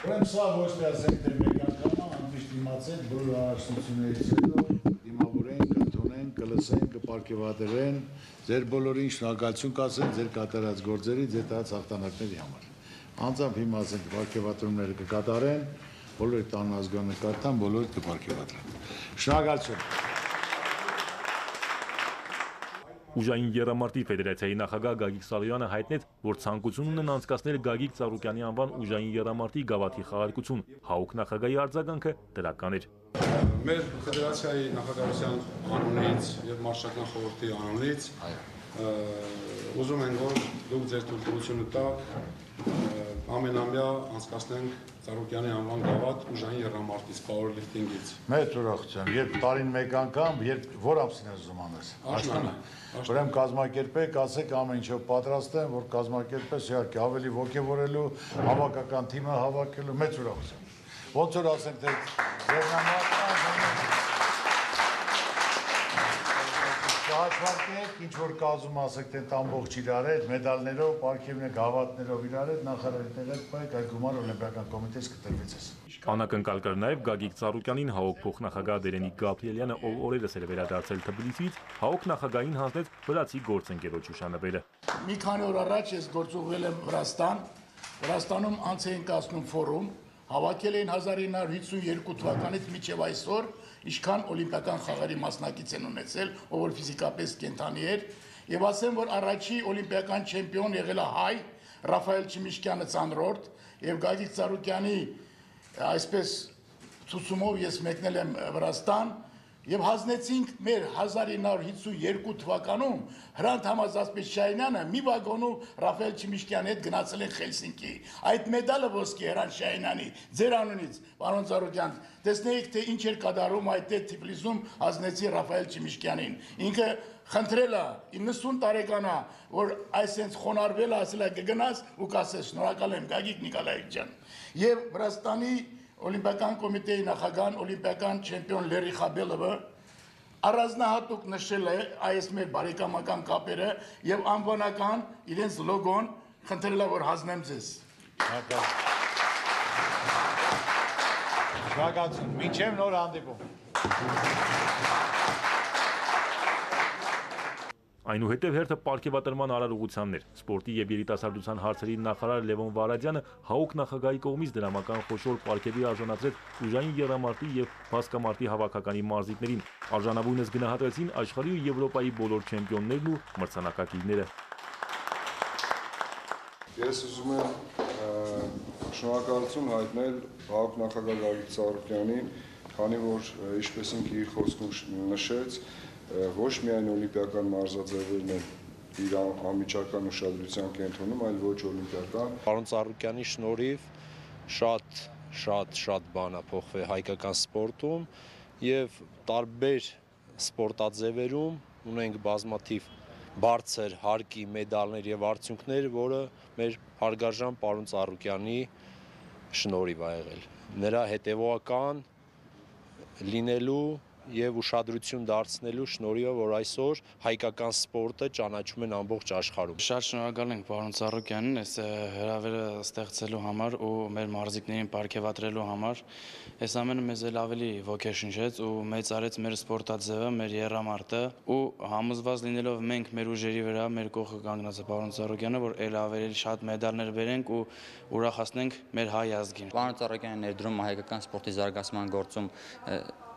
[SPEAKER 3] Ուրեմն սա ոչ թե ասենք թե մեկ անգամ անմիշտ դիմացել բոլոր առաջնություններից հետո դիմավորենք, ընդունենք, կլսենք, կպարգևատրեն, ձեր բոլորին շնորհակալություն կասեն ձեր կատարած գործերի, ձեր տած հաղթանակների համար։ Անձամբ հիմա ասենք պարգևատրումները կկատարեն, բոլորի տան ազգանը կարտան, բոլորը կպարգևատրեն։ Շնորհակալություն։
[SPEAKER 17] Ուժային եռամարտի ֆեդերացիայի նախագահ Գագիկ Սարոյանը հայտնեց, որ ցանկություն ունեն անցկացնել Գագիկ Ծառուկյանի անվան ուժային եռամարտի գավաթի խաղարկություն։ ՀԱՕԿ նախագահի արձագանքը դրական էր։
[SPEAKER 19] Մեր ֆեդերացիայի նախագահության անունից եւ մարշչական խորհրդի անունից ուզում ենք, որ դուք ձեր թույլտվությունը տաք ամենամյա անցկացնենք Ծառուկյանի անվան գավաթ ուժային եռամարտից, powerlifting-ից։
[SPEAKER 3] Մեծ ուրախությամբ, երբ տարին մեկ անգամ, երբ որ ամսին ես ուզում անես։
[SPEAKER 19] Աշնանը։
[SPEAKER 3] Ուրեմն կազմակերպեք, ասեք ամեն ինչով պատրաստ եմ, որ կազմակերպես իհարկե ավելի ոգևորելու, հավաքական թիմը հավաքելու, մեծ ուրախությամբ։ Ոնց որ ասենք թե Շահարկեք, ինչ որ կազում ասեք թե ամբողջ իրար հետ, մեդալներով, պարգևներ, գավաթներով իրար հետ, նախարարի տեղեկ պայք, այդ գումար օլիմպիական կոմիտեից կտրվեց ես։
[SPEAKER 17] Անակնկալ կար նաև Գագիկ Ծառուկյանին ՀԱՕԿ փոխնախագահ Դերենիկ Գաբրիելյանը, ով օրերս էր վերադարձել Թբիլիսից, ՀԱՕԿ նախագահին հանձնեց վրացի գործընկերոջ հուշանվերը։
[SPEAKER 5] Մի քանի օր առաջ ես գործուղվել եմ Վրաստան, Վրաստանում անց էին կազմում ֆորում, հավաքել էին 1952 թվականից մինչև այսօր, ինչքան օլիմպիական խաղերի մասնակից են ունեցել, ով որ ֆիզիկապես կենդանի էր, եւ ասեմ, որ առաջի օլիմպիական չեմպիոն եղել է հայ Ռաֆայել Չիմիշկյանը ծանրորդ եւ Գագիկ Ծառուկյանի այսպես ցուցումով ես մեկնել եմ Վրաստան եւ հանձնեցինք մեր 1952 թվականում Հրանտ Համազասպետշայինյանը մի վագոնում Ռաֆայել Չիմիշկյանի հետ գնացել են Խելսինկի։ Այդ մեդալը ոսկի Հրանտ Շայինյանի ձեր անունից, պարոն Ծառուկյան, տեսնեիք թե ինչ էր կատարում այդ Թիֆլիսում հանձնեցի Ռաֆայել Չիմիշկյանին։ Ինքը խնդրել է 90 տարեկան է, որ այսենց խոնարհվել է, ասել է կգնաս ու կասես շնորհակալ եմ Գագիկ Նիկոլաևիչ ջան։ Եվ Վրաստանի Օլիմպիական կոմիտեի նախագահան օլիմպիական չեմպիոն Լերի Խաբելովը առանձնահատուկ նշել է այս մեր բարեկամական կապերը եւ անվանական իրենց լոգոն խնդրել է որ հանձնեմ ձեզ։
[SPEAKER 3] Շնորհակալություն։ Մինչև նոր հանդիպում։
[SPEAKER 17] Այնուհետև հերթը պարգևատրման արարողությանն էր։ Սպորտի եւ երիտասարդության հարցերի նախարար Լևոն Վարադյանը ՀԱՕԿ նախագահի կողմից դրամական խոշոր պարգևի արժանացրեց ուժային եռամարտի եւ բասկամարտի հավաքականի մարզիկներին։ Արժանավույնս գնահատվեցին աշխարհի ու Եվրոպայի բոլոր չեմպիոններն ու մրցանակակիրները։
[SPEAKER 21] Ես ուզում եմ շնորհակալություն հայտնել ՀԱՕԿ նախագահ Գագիկ Ծառուկյանին, քանի որ ինչպես ինքը իր խոսքում նշեց, ոչ միայն օլիմպիական մարզաձևերն են իր անմիջական ուշադրության կենտրոնում, այլ ոչ օլիմպիական։
[SPEAKER 22] Պարոն Ծառուկյանի շնորհիվ շատ բան է փոխվել հայկական սպորտում եւ տարբեր սպորտաձևերում ունենք բազմաթիվ բարձր հարկի մեդալներ եւ արդյունքներ, որը մեր հարգարժան պարոն Ծառուկյանի շնորհիվ ա եղել։ Նրա հետևողական լինելու եւ ուշադրություն դարձնելու շնորհիվ, որ այսօր հայկական սպորտը ճանաչում են ամբողջ աշխարհում։
[SPEAKER 6] Շատ շնորհակալ ենք պարոն Ծառուկյանին այս հրավերը ստեղծելու համար ու մեր մարզիկներին պարգևատրելու համար։ Այս ամենը մեզ էլ ավելի ոգեշնչեց ու մեծարեց մեր սպորտաձևը, մեր եռամարտը ու համոզված լինելով մենք մեր ուժերի վրա, մեր կողքը կանգնած է պարոն Ծառուկյանը, որ ել ավելի շատ մեդալներ բերենք ու ուրախացնենք մեր հայ ազգին։
[SPEAKER 7] Պարոն Ծառուկյանի ներդրումը հայկական սպորտի զարգացման գործում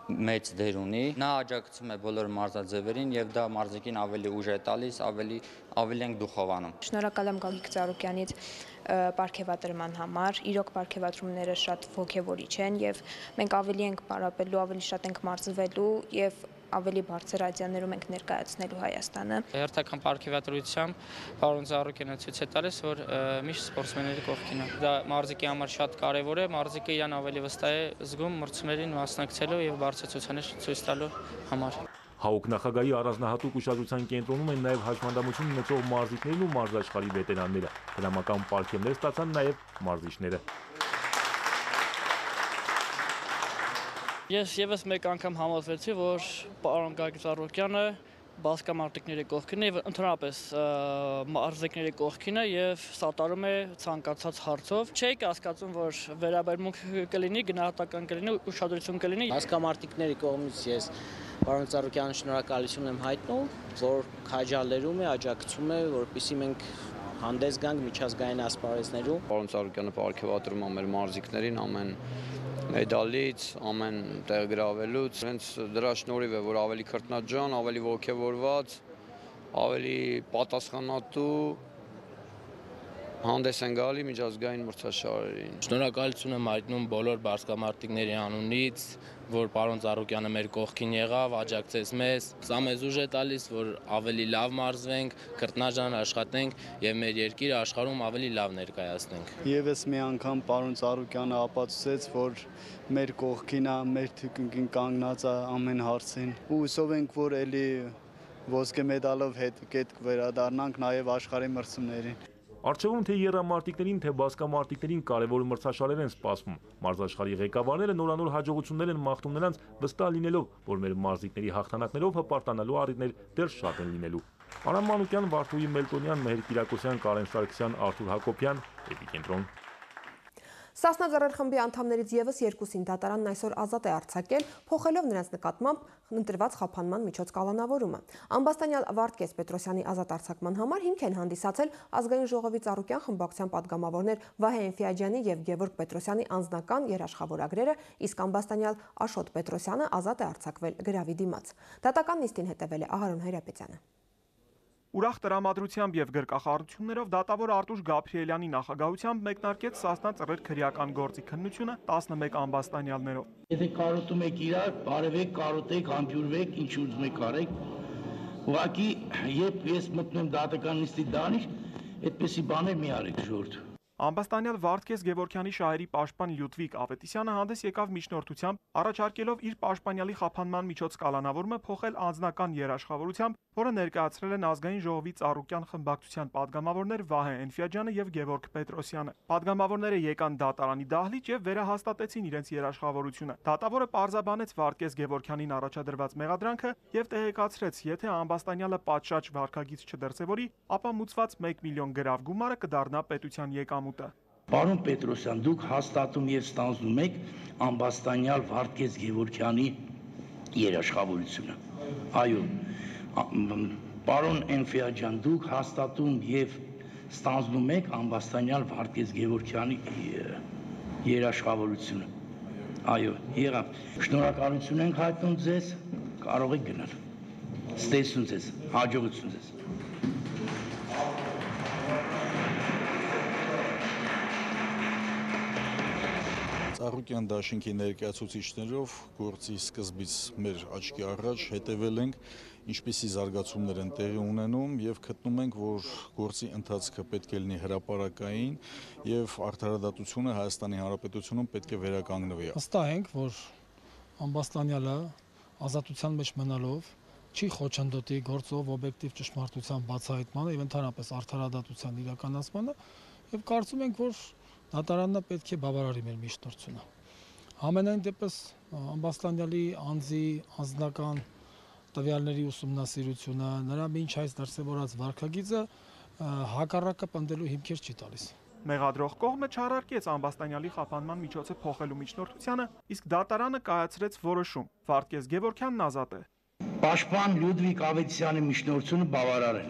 [SPEAKER 7] մեծ դեր ունի։ Նա աջակցում է բոլոր մարզաձևերին եւ դա մարզիկին ավելի ուժ է տալիս, ավելի ենք դուխովանում։
[SPEAKER 23] Շնորհակալ եմ Գագիկ Ծառուկյանից պարգևատրման համար։ Իրոք պարգևատրումները շատ ոգևորիչ են եւ մենք ավելի ենք պարապելու, ավելի շատ ենք մարզվելու եւ ավելի բարձր ադյաներում ենք ներկայացնելու Հայաստանը։
[SPEAKER 24] Հերթական պարգևատրությամբ պարոն Ծառուկյանը ցույց է տալիս, որ միշտ սպորտսմենների կողքին է։ Դա մարզիկի համար շատ կարևոր է, մարզիկը իրան ավելի վստահ է զգում մրցումներին մասնակցելու եւ բարձր ցուցանիշ ցույց տալու համար։
[SPEAKER 17] ՀԱՕԿ նախագահի առանձնահատուկ ուշադրության կենտրոնում են նաև հաշմանդամություն ունեցող մարզիկներն ու մարզաշխարհի վետերանները։ Դրամական պարգևներ ստացան նաև մարզիչները։
[SPEAKER 24] Ես եւս մեկ անգամ համոզվեցի, որ պարոն Գագիկ Ծառուկյանը բասկամարտիկների կողքին է, ընդհանրապես մարզիկների կողքին է եւ սատարում է ցանկացած հարցով։ Չէի կասկածում, որ վերաբերմունք կլինի, գնահատական կլինի, ուշադրություն կլինի։
[SPEAKER 25] Բասկամարտիկների կողմից ես պարոն Ծառուկյանին շնորհակալություն եմ հայտնում, որ քաջալերում է, աջակցում է, որպեսզի մենք հանդես գանք միջազգային ասպարեզներում։
[SPEAKER 26] Պարոն Ծառուկյանը պարգևատրում է մեր մարզիկներին ամեն մեդալից, ամեն տեղ գրավելուց, հենց դրա շնորհիվ է, որ ավելի քրտնաջան, ավելի ոգևորված, ավելի պատասխանատու հանդես են գալի միջազգային մրցաշարերին։
[SPEAKER 24] Շնորհակալություն եմ հայտնում բոլոր բասկամարտիկների անունից, որ պարոն Ծառուկյանը մեր կողքին եղավ, աջակցեց մեզ, սա մեզ ուժ է տալիս, որ ավելի լավ մարզվենք, քրտնաջան աշխատենք եւ մեր երկիրը աշխարհում ավելի լավ ներկայացնենք։
[SPEAKER 27] Եվս մի անգամ պարոն Ծառուկյանը ապացուցեց, որ մեր կողքին է, մեր թիկունքին կանգնած է ամեն հարցին։ Ու հուսով ենք, որ ելի ոսկե մեդալով հետ կվերադառնանք նաեւ աշխարհի մրցումներին։
[SPEAKER 17] Առջևում թե եռամարտիկներին, թե բասկամարտիկներին կարևոր մրցաշարեր են սպասվում։ Մարզաշխարհի ղեկավարները նորանոր հաջողություններ են մաղթում նրանց, վստահ լինելով, որ մեր մարզիկների հաղթանակներով հպարտանալու առիթներ դեռ շատ են լինելու։ Արամ Մանուկյան, Վարդուհի Մելտոնյան, Մեհեր Կիրակոսյան, Կարեն Սարգսյան, Արթուր Հակոբյան, Էպիկենտրոն։
[SPEAKER 1] Սասնա Ձեռեր խմբի անդամներից եւս երկուսին դատարանն այսօր ազատ է արձակել, փոխելով նրանց նկատմամբ ընտրված խափանման միջոց կալանավորումը։ Ամբաստանյալ Վարդգես Պետրոսյանի ազատ արձակման համար հիմք են հանդիսացել Ազգային ժողովի Ծառուկյան խմբակցության падգամավորներ Վահե Էնֆիաջյանի եւ Գևորգ Պետրոսյանի անձնական երաշխավորագրերը, իսկ ամբաստանյալ Աշոտ Պետրոսյանը ազատ է արձակվել գրավի դիմաց։ Դատական նիստին հետևել է Ահարոն Հայրապետյանը։
[SPEAKER 28] Ուրախ տրամադրությամբ եւ գրկախառնություններով դատավոր Արտուշ Գաբրիելյանի նախագահությամբ մեկնարկեց Սասնա Ծռեր քրեական գործի քննությունը 11 ամբաստանյալներով։
[SPEAKER 5] Եթե կարոտում եք իրար, բարևեք, կարոտեք, համբյուրվեք, ինչ ուզում եք արեք։ Ուղղակի երբ ես մտնում դատական նիստի դանիշ, այդպեսի բաներ մի արեք ժողովուրդ։
[SPEAKER 28] Ամբաստանյալ Վարդգես Գևորգյանի շահերի պաշտպան Լյուդվիգ Ավետիսյանը հանդես եկավ միջնորդությամբ, առաջարկելով իր պաշտպանյալի խափանման միջոց կալանավորումը փոխել անձնական երաշխավորությամբ, որը ներկայացրել են Ազգային ժողովի Ծառուկյան խմբակցության падգամավորներ Վահե Էնֆիաջյանը եւ Գևորգ Պետրոսյանը։ Падգամավորները եկան դատարանի դահլիճ եւ վերահաստատեցին իրենց երաշխավորությունը։ Դատավորը պարզաբանեց Վարդգես Գևորգյանին առաջադրված մեղադրանքը եւ տեղեկացրեց, եթե ամբաստանյալը պատշաճ վարքագիծ չդրսևորի, ապա մուծված 1 միլիոն գրավ գումարը կդառնա պետության եկամուտը։
[SPEAKER 5] Պարոն Պետրոսյան, դուք հաստատում եւ ստանձնում եք ամբաստանյալ Վարդգես Գևորգյանի երաշխավորությունը։ Այո, պարոն Էնֆիաջյան, դուք հաստատում եւ ստանձնում եք ամբաստանյալ Վարդգես Գևորգյանի երաշխավորությունը։ Այո, եղավ։ Շնորհակալություն ենք հայտնում ձեզ, կարող եք գնալ։ Ստեսուն ձեզ, հաջողություն ձեզ։
[SPEAKER 29] Ծառուկյան դաշինքի ներկայացուցիչներով գործի սկզբից մեր աչքի առաջ հետևել ենք, ինչպիսի զարգացումներ են տեղի ունենում եւ գտնում ենք, որ գործի ընթացքը պետք է լինի հրապարակային եւ արդարադատությունը Հայաստանի Հանրապետությունում պետք է վերականգնվի։
[SPEAKER 9] Վստահ ենք, որ ամբաստանյալը ազատության մեջ մնալով չի խոչընդոտի գործով օբյեկտիվ ճշմարտության բացահայտմանը եւ ընդհանրապես արդարադատության իրականացմանը եւ կարծում ենք, որ դատարանը պետք է բավարարի մեր միջնորդությունը։
[SPEAKER 2] Ամենայն դեպս Ամբաստանյանի անձի անձնական տվյալների ուսումնասիրությունը, նրա մինչ այս դրսևորած վարքագիծը հակառակը պնդելու հիմքեր չի տալիս։
[SPEAKER 28] Մեղադրող կողմը չարարկեց Ամբաստանյանի խափանման միջոցը փոխելու միջնորդությանը, իսկ դատարանը կայացրեց որոշում։ Վարդգես Գևորգյանն ազատ է։
[SPEAKER 4] Պաշտպան Լյուդվիգ Ավետիսյանի միջնորդությունը բավարար է։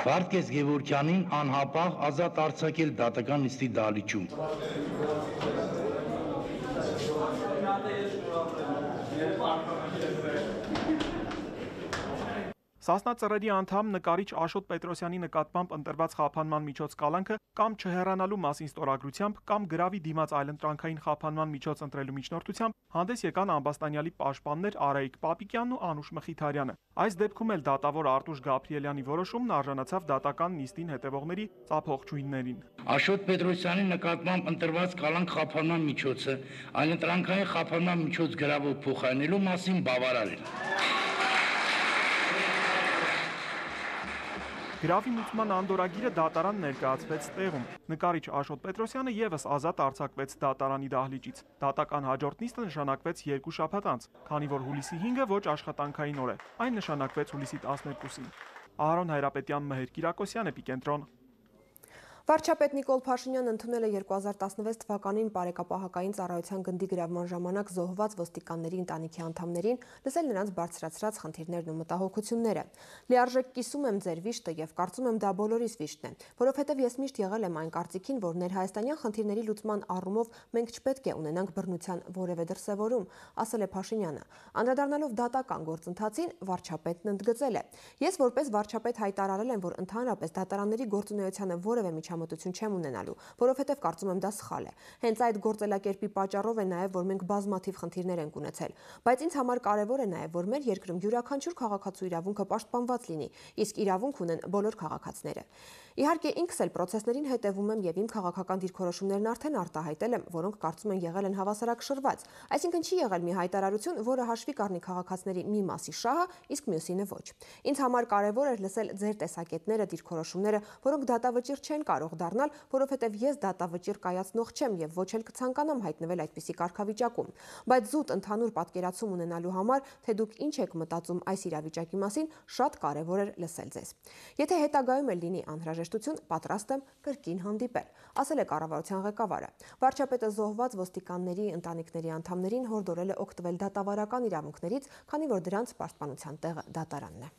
[SPEAKER 4] Վարդգես Գևորգյանին անհապաղ ազատ արձակել դատական նիստի դահլիճում։
[SPEAKER 28] Սասնա ծռերի անդամ նկարիչ Աշոտ Պետրոսյանի նկատմամբ ընտրված խափանման միջոց կալանքը կամ չհեռանալու մասին ստորագրությամբ կամ գրավի դիմաց այլընտրանքային խափանման միջոց ընտրելու միջնորդությամբ հանդես եկան Ամբաստանյանի պաշտպաններ Արայիկ Պապիկյանն ու Անուշ Մխիթարյանը։ Այս դեպքում էլ դատավոր Արտուշ Գաբրիելյանի որոշումն արժանացավ դատական նիստին հետևողների ծափողջույններին։
[SPEAKER 4] Աշոտ Պետրոսյանի նկատմամբ ընտրված կալանք խափանման միջոցը այլընտրանքային խափանման միջոց գրավով փոխարինելու մասին բավարար է։
[SPEAKER 28] Գրավի մուծման անդորագիրը դատարան ներկայացվեց տեղում։ Նկարիչ Աշոտ Պետրոսյանը եւս ազատ արձակվեց դատարանի դահլիճից։ Դատական հաջորդ նիստը նշանակվեց 2 շաբաթ անց, քանի որ հուլիսի 5-ը ոչ աշխատանքային օր է։ Այն նշանակվեց հուլիսի 12-ին։ Ահարոն Հայրապետյան, Մհեր Կիրակոսյան, Էպիկենտրոն։
[SPEAKER 1] Վարչապետ Նիկոլ Փաշինյանն ընդունել է 2016 թվականին Բարեկապահակային ծառայության գնդի գրավման ժամանակ զոհված ոստիկանների ընտանիքի անդամներին, լսել նրանց բարձրացրած խնդիրներն ու մտահոգությունները։ Լիարժեք կիսում եմ ձեր վիշտը եւ կարծում եմ դա բոլորիս վիշտն է, որովհետեւ ես միշտ եղել եմ այն կարծիքին, որ ներհայաստանյան խնդիրների լուծման առումով մենք չպետք է ունենանք բռնության որևէ դրսևորում, ասել է Փաշինյանը։ Անդրադառնալով դատական գործընթացին, վարչապետն ընդգծել է. Ես որպես վարչապետ հայտարարել եմ, որ ընդհանրապես դատարանների գործունեությանը որևէ միջամտություն չեմ ունենալու, որովհետև կարծում եմ դա սխալ է։ Հենց այդ գործելակերպի պատճառով է նաև, որ մենք բազմաթիվ խնդիրներ ենք ունեցել, բայց ինձ համար կարևոր է նաև, որ մեր երկրում յուրաքանչյուր քաղաքացու իրավունքը պաշտպանված լինի, իսկ իրավունք ունեն բոլոր քաղաքացիները։ Իհարկե ինքս էլ պրոցեսներին հետևում եմ եւ իմ քաղաքական դիրքորոշումներն արդեն արտահայտել եմ, որոնք կարծում եմ եղել են հավասարակշռված։ Այսինքն չի եղել մի հայտարարություն, որը հաշվի կառնի քաղաքացիների մի մասի շահը, իսկ մյուսինը ոչ։ Ինձ համար կարևոր էր լսել ձեր տեսակետները, դիրքորոշումները, որոնք դատավճիռ չեն կարող դառնալ, որովհետև ես դատավճիռ կայացնող չեմ եւ ոչ էլ կցանկանամ հայտնվել այդպիսի կարգավիճակում։ Բայց զուտ ընդհանուր պատկերացում ունենալու համար, թե դուք ինչ եք մտածում այս իրավիճակի մասին, շատ կարևոր էր լսել ձեզ։ Եթե հետագայում էլ լինի անհրաժեշտություն, պատրաստ եմ կրկին հանդիպել, ասել է կառավարության ղեկավարը։ Վարչապետը զոհված ոստիկանների ընտանիքների անդամներին հորդորել է օգտվել դատավարական իրավունքներից, քանի որ դրանց պաշտպանության տեղը դատարանն է։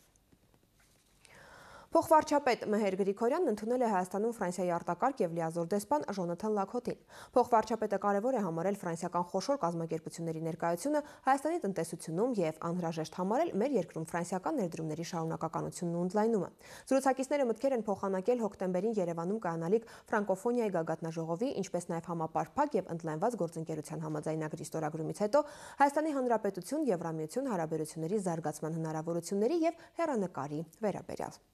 [SPEAKER 1] Փոխվարչապետ Մհեր Գրիգորյանն ընդունել է Հայաստանում Ֆրանսիայի արտակարգ եւ լիազոր դեսպան Ժոնաթան Լաքոթին։ Փոխվարչապետը կարևոր է համարել ֆրանսիական խոշոր կազմակերպությունների ներկայությունը Հայաստանի տնտեսությունում եւ անհրաժեշտ համարել մեր երկրում ֆրանսիական ներդրումների շարունակականությունն ու ընդլայնումը։ Զրուցակիցները մտքեր են փոխանակել հոկտեմբերին Երևանում կայանալիք ֆրանկոֆոնիայի գագաթնաժողովի, ինչպես նաեւ համապարփակ եւ ընդլայնված գործընկերության համաձայնագրի ստորագրումից հետո Հայաստանի Հանրապետություն Եվրամիություն հարաբերությունների զարգացման հնարավորությունների եւ հեռանկարի վերաբերյալ։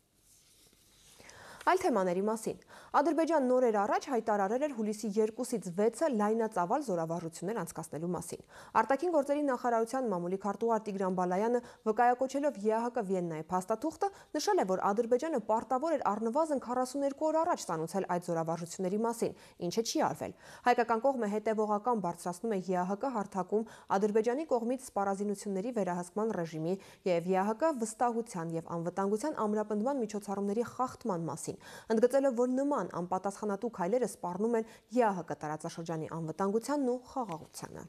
[SPEAKER 1] Այլ թեմաների մասին։ Ադրբեջանն օրեր առաջ հայտարարել էր հուլիսի 2-ից 6-ը լայնածավալ զորավարժություններ անցկացնելու մասին։ Արտաքին գործերի նախարարության մամուլի քարտուղար Տիգրան Բալայանը վկայակոչելով ԵԱՀԿ Վիեննայի փաստաթուղթը նշել է, որ Ադրբեջանը պարտավոր էր առնվազն 42 օր առաջ ստանուցել այդ զորավարժությունների մասին, ինչը չի արվել։ Հայկական կողմը հետևողական բարձրացնում է ԵԱՀԿ հարթակում Ադրբեջանի կողմից սպառազինությունների վերահսկման ռեժիմի եւ ԵԱՀԿ վստահության եւ անվտանգության ամրապնդման միջոցառումների խախտման մասին, ընդգծելով, որ նման անպատասխանատու քայլերը սպառնում են ԵԱՀԿ տարածաշրջանի անվտանգությանն ու խաղաղությանը։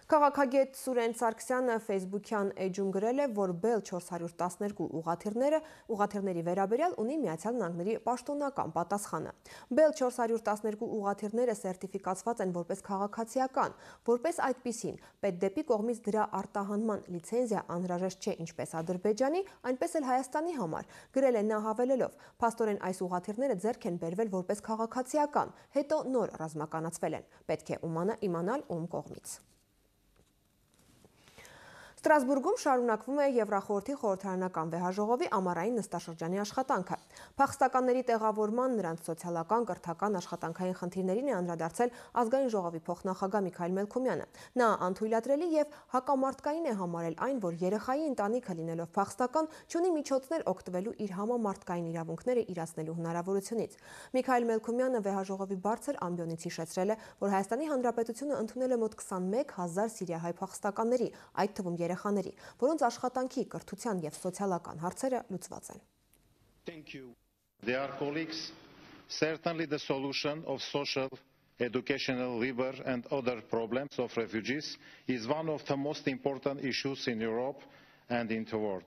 [SPEAKER 1] Քաղաքագետ Սուրեն Սարգսյանը Facebook-յան էջում գրել է, որ Bell 412 ուղղաթիռների վերաբերյալ ունի Միացյալ Նահանգների պաշտոնական պատասխանը։ Bell 412 ուղղաթիռները սերտիֆիկացված են որպես քաղաքացիական, որպես այդպիսին պետդեպի կողմից դրա արտահանման լիցենզիա անհրաժեշտ չէ ինչպես Ադրբեջանի, այնպես էլ Հայաստանի համար, գրել է նա հավելելով. փաստորեն այս ուղղաթիռները ձեռք են բերվել որպես քաղաքացիական, հետո նոր ռազմականացվել են, պետք է իմանալ ում կողմից։ Ստրասբուրգում շարունակվում է Եվրախորհրդի խորհրդարանական վեհաժողովի ամառային նստաշրջանի աշխատանքը։ Փախստականների տեղավորման, նրանց սոցիալական, կրթական, աշխատանքային խնդիրներին է անդրադարձել ազգային ժողովի փոխնախագահ Միքայել Մելքումյանը։ Նա անթույլատրելի եւ հակամարտկային է համարել այն, որ երեխայի ընտանիքը լինելով փախստական չունի միջոցներ օգտվելու իր համամարտկային իրավունքները իրացնելու հնարավորությունից։ Միքայել Մելքումյանը վեհաժողովի բարձր ամբիոնից հիշեցրել է, որ Հայաստանի Հանրապետությունը ընդունել է մոտ 21,000 սիրիահայ փախստականների, այդ թվում երեխաների, որոնց աշխատանքի, կրթության եւ սոցիալական հարցերը լուծված են։
[SPEAKER 8] Dear colleagues, certainly the solution of social, educational, labor and other problems of refugees is one of the most important issues in Europe and in the world.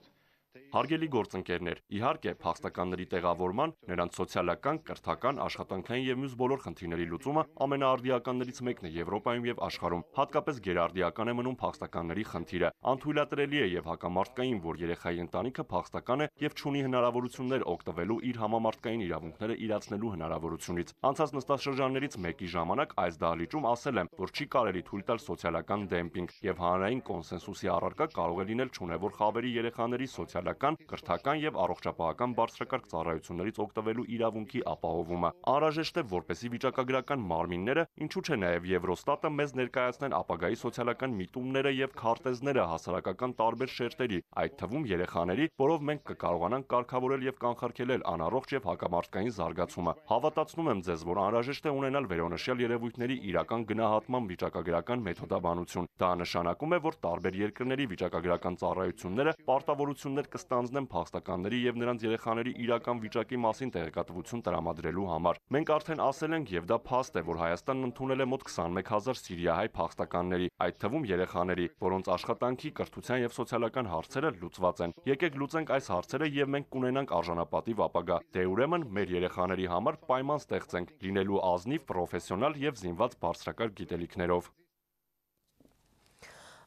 [SPEAKER 10] Հարգելի գործընկերներ, իհարկե փախստականների տեղավորման, նրանց սոցիալական, կրթական, աշխատանքային եւ մյուս բոլոր խնդիրների լուծումը ամենաարդիականներից մեկն է Եվրոպայում եւ աշխարհում։ Հատկապես գերարդիական է մնում փախստականների խնդիրը։ Անթույլատրելի է եւ հակամարտկային, որ երեխայի ընտանիքը փախստական է եւ չունի հնարավորություններ օգտվելու իր համամարտկային իրավունքները իրացնելու հնարավորությունից։ Անցած նստաշրջաններից մեկի ժամանակ այս դահլիճում ասել եմ, որ չի կարելի թույլ տալ սոցիալական դեմպինգ եւ հանրային կոնսենսուսի առարկա կարող է լինել չունևոր խավերի երեխաների սոցիալական, կրթական եւ առողջապահական բարձրակարգ ծառայություններից օգտվելու իրավունքի ապահովումը։ Անհրաժեշտ է, որպեսզի վիճակագրական մարմինները, ինչու՞ չէ նաեւ Եվրոստատը մեզ ներկայացնեն ապագայի սոցիալական միտումները եւ քարտեզները հասարակական տարբեր շերտերի, այդ թվում երեխաների, որով մենք կկարողանանք կարգավորել եւ կանխարգելել անառողջ եւ հակամարտկային զարգացումը։ Հավատացնում եմ ձեզ, որ անհրաժեշտ է ունենալ վերոնշյալ երևույթների իրական գնահատման վիճակագրական մեթոդաբանություն։ Դա նշանակում է, որ տարբեր երկրների վիճակագրական ծառայությունները պարտավորություններ կստանձնեն փախստականների եւ նրանց երեխաների իրական վիճակի մասին տեղեկատվություն տրամադրելու համար։ Մենք արդեն ասել ենք եւ դա փաստ է, որ Հայաստանն ընդունել է մոտ 21,000 սիրիահայ փախստականների, այդ թվում երեխաների, որոնց աշխատանքի, կրթության եւ սոցիալական հարցերը լուծված են։ Եկեք լուծենք այս հարցերը եւ մենք կունենանք արժանապատիվ ապագա։ Դե ուրեմն մեր երեխաների համար պայման ստեղծենք, լինելու ազնիվ, պրոֆեսիոնալ եւ զինված բարձրակարգ գիտելիքներով։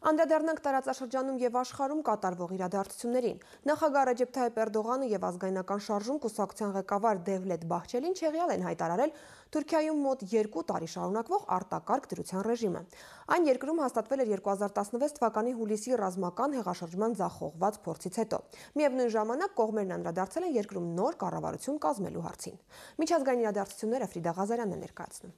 [SPEAKER 1] Անդրադառնանք տարածաշրջանում եւ աշխարհում կատարվող իրադարձություններին։ Նախագահ Ռեջեփ Թայիփ Էրդողանը եւ ազգայնական շարժում կուսակցության ղեկավար Դևլետ Բահչելին չեղյալ են հայտարարել Թուրքիայում մոտ 2 տարի շարունակվող արտակարգ դրության ռեժիմը։ Այն երկրում հաստատվել էր 2016 թվականի հուլիսի ռազմական հեղաշրջման ձախողված փորձից հետո։ Միևնույն ժամանակ կողմերն անդրադարձել են երկրում նոր կառավարություն կազմելու հարցին։ Միջազգային իրադարձությունները Ֆրիդա Ղազարյանն է ներկայացնում։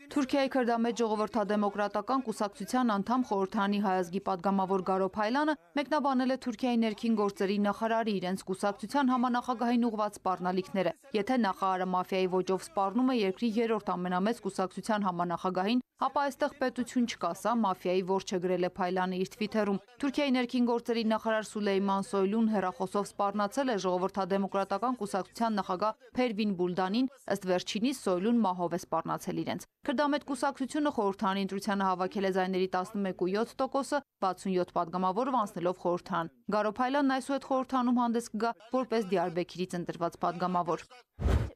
[SPEAKER 11] Թուրքիայի քրդամետ ժողովրդադեմոկրատական կուսակցության անդամ խորհրդարանի հայազգի падգամավոր Գարո Փայլանը մեկնաբանել է Թուրքիայի ներքին գործերի նախարարի իրենց կուսակցության համանախագահային ուղղված սպառնալիքները։ Եթե նախարարը մաֆիայի ոճով սպառնում է երկրի երրորդ ամենամեծ կուսակցության համանախագահին, ապա այստեղ պետություն չկա, սա մաֆիայի որջը գրել է Փայլանը իր թվիթերում։ Թուրքիայի ներքին գործերի նախարար Սուլեյման Սոյլուն հեռախոսով սպառնացել է ժողովրդադեմոկրատական կուսակցության նախագահ Փերվին Բուլդանին, ըստ վերջինիս Սոյլուն մահով է սպառնացել իրենց։ Քրդամետ կուսակցությունը խորհրդարանի ընտրությանը հավաքել է ձայների 11.7%, 67 падգամավորով անցնելով խորհրդարան։ Գարո Փայլանն այսուհետ խորհրդարանում հանդես կգա որպես Դիարբեքիրից ընտրված падգամավոր։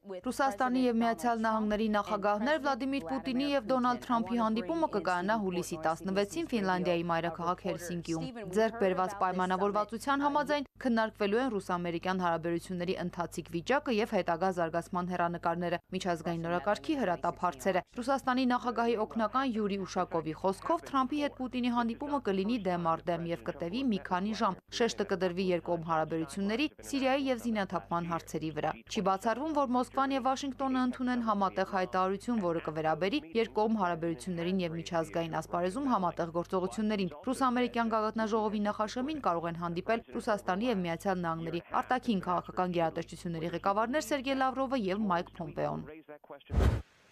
[SPEAKER 11] Ռուսաստանի եւ Միացյալ Նահանգների նախագահներ Վլադիմիր Պուտինի եւ Դոնալդ Թրամփի հանդիպումը կկայանա հուլիսի 16-ին Ֆինլանդիայի մայրաքաղաք Հելսինկիում։ Ձեռք բերված պայմանավորվածության համաձայն քննարկվելու են ռուս-ամերիկյան հարաբերությունների ընթացիկ վիճակը եւ հետագա զարգացման հեռանկարները, միջազգային նորակարգի հրատապ հարցերը։ Ռուսաստանի նախագահի օգնական Յուրի Ուշակովի խոսքով Թրամփի հետ Պուտինի հանդիպումը կլինի դեմ առ դեմ եւ կտևի մի քանի ժամ։ Շեշտը կդրվի երկկողմ հարաբերությունների, Սիրիայի եւ զինաթափման հարցերի վրա։ Չի բացառվում, որ Մոսկվան եւ Վաշինգտոնը ընդունեն համատեղ հայտարարություն, որը կվերաբերի երկկողմ հարաբերություններին եւ միջազգային ասպարեզում համատեղ գործողություններին։ Ռուս-ամերիկյան գագաթնաժողովի նախաշեմին կարող են հանդիպել Ռուսաստանի եւ Միացյալ Նահանգների արտաքին քաղաքական գերատեսչությունների ղեկավարներ Սերգեյ Լավրովը եւ Մայք Փոմպեոն։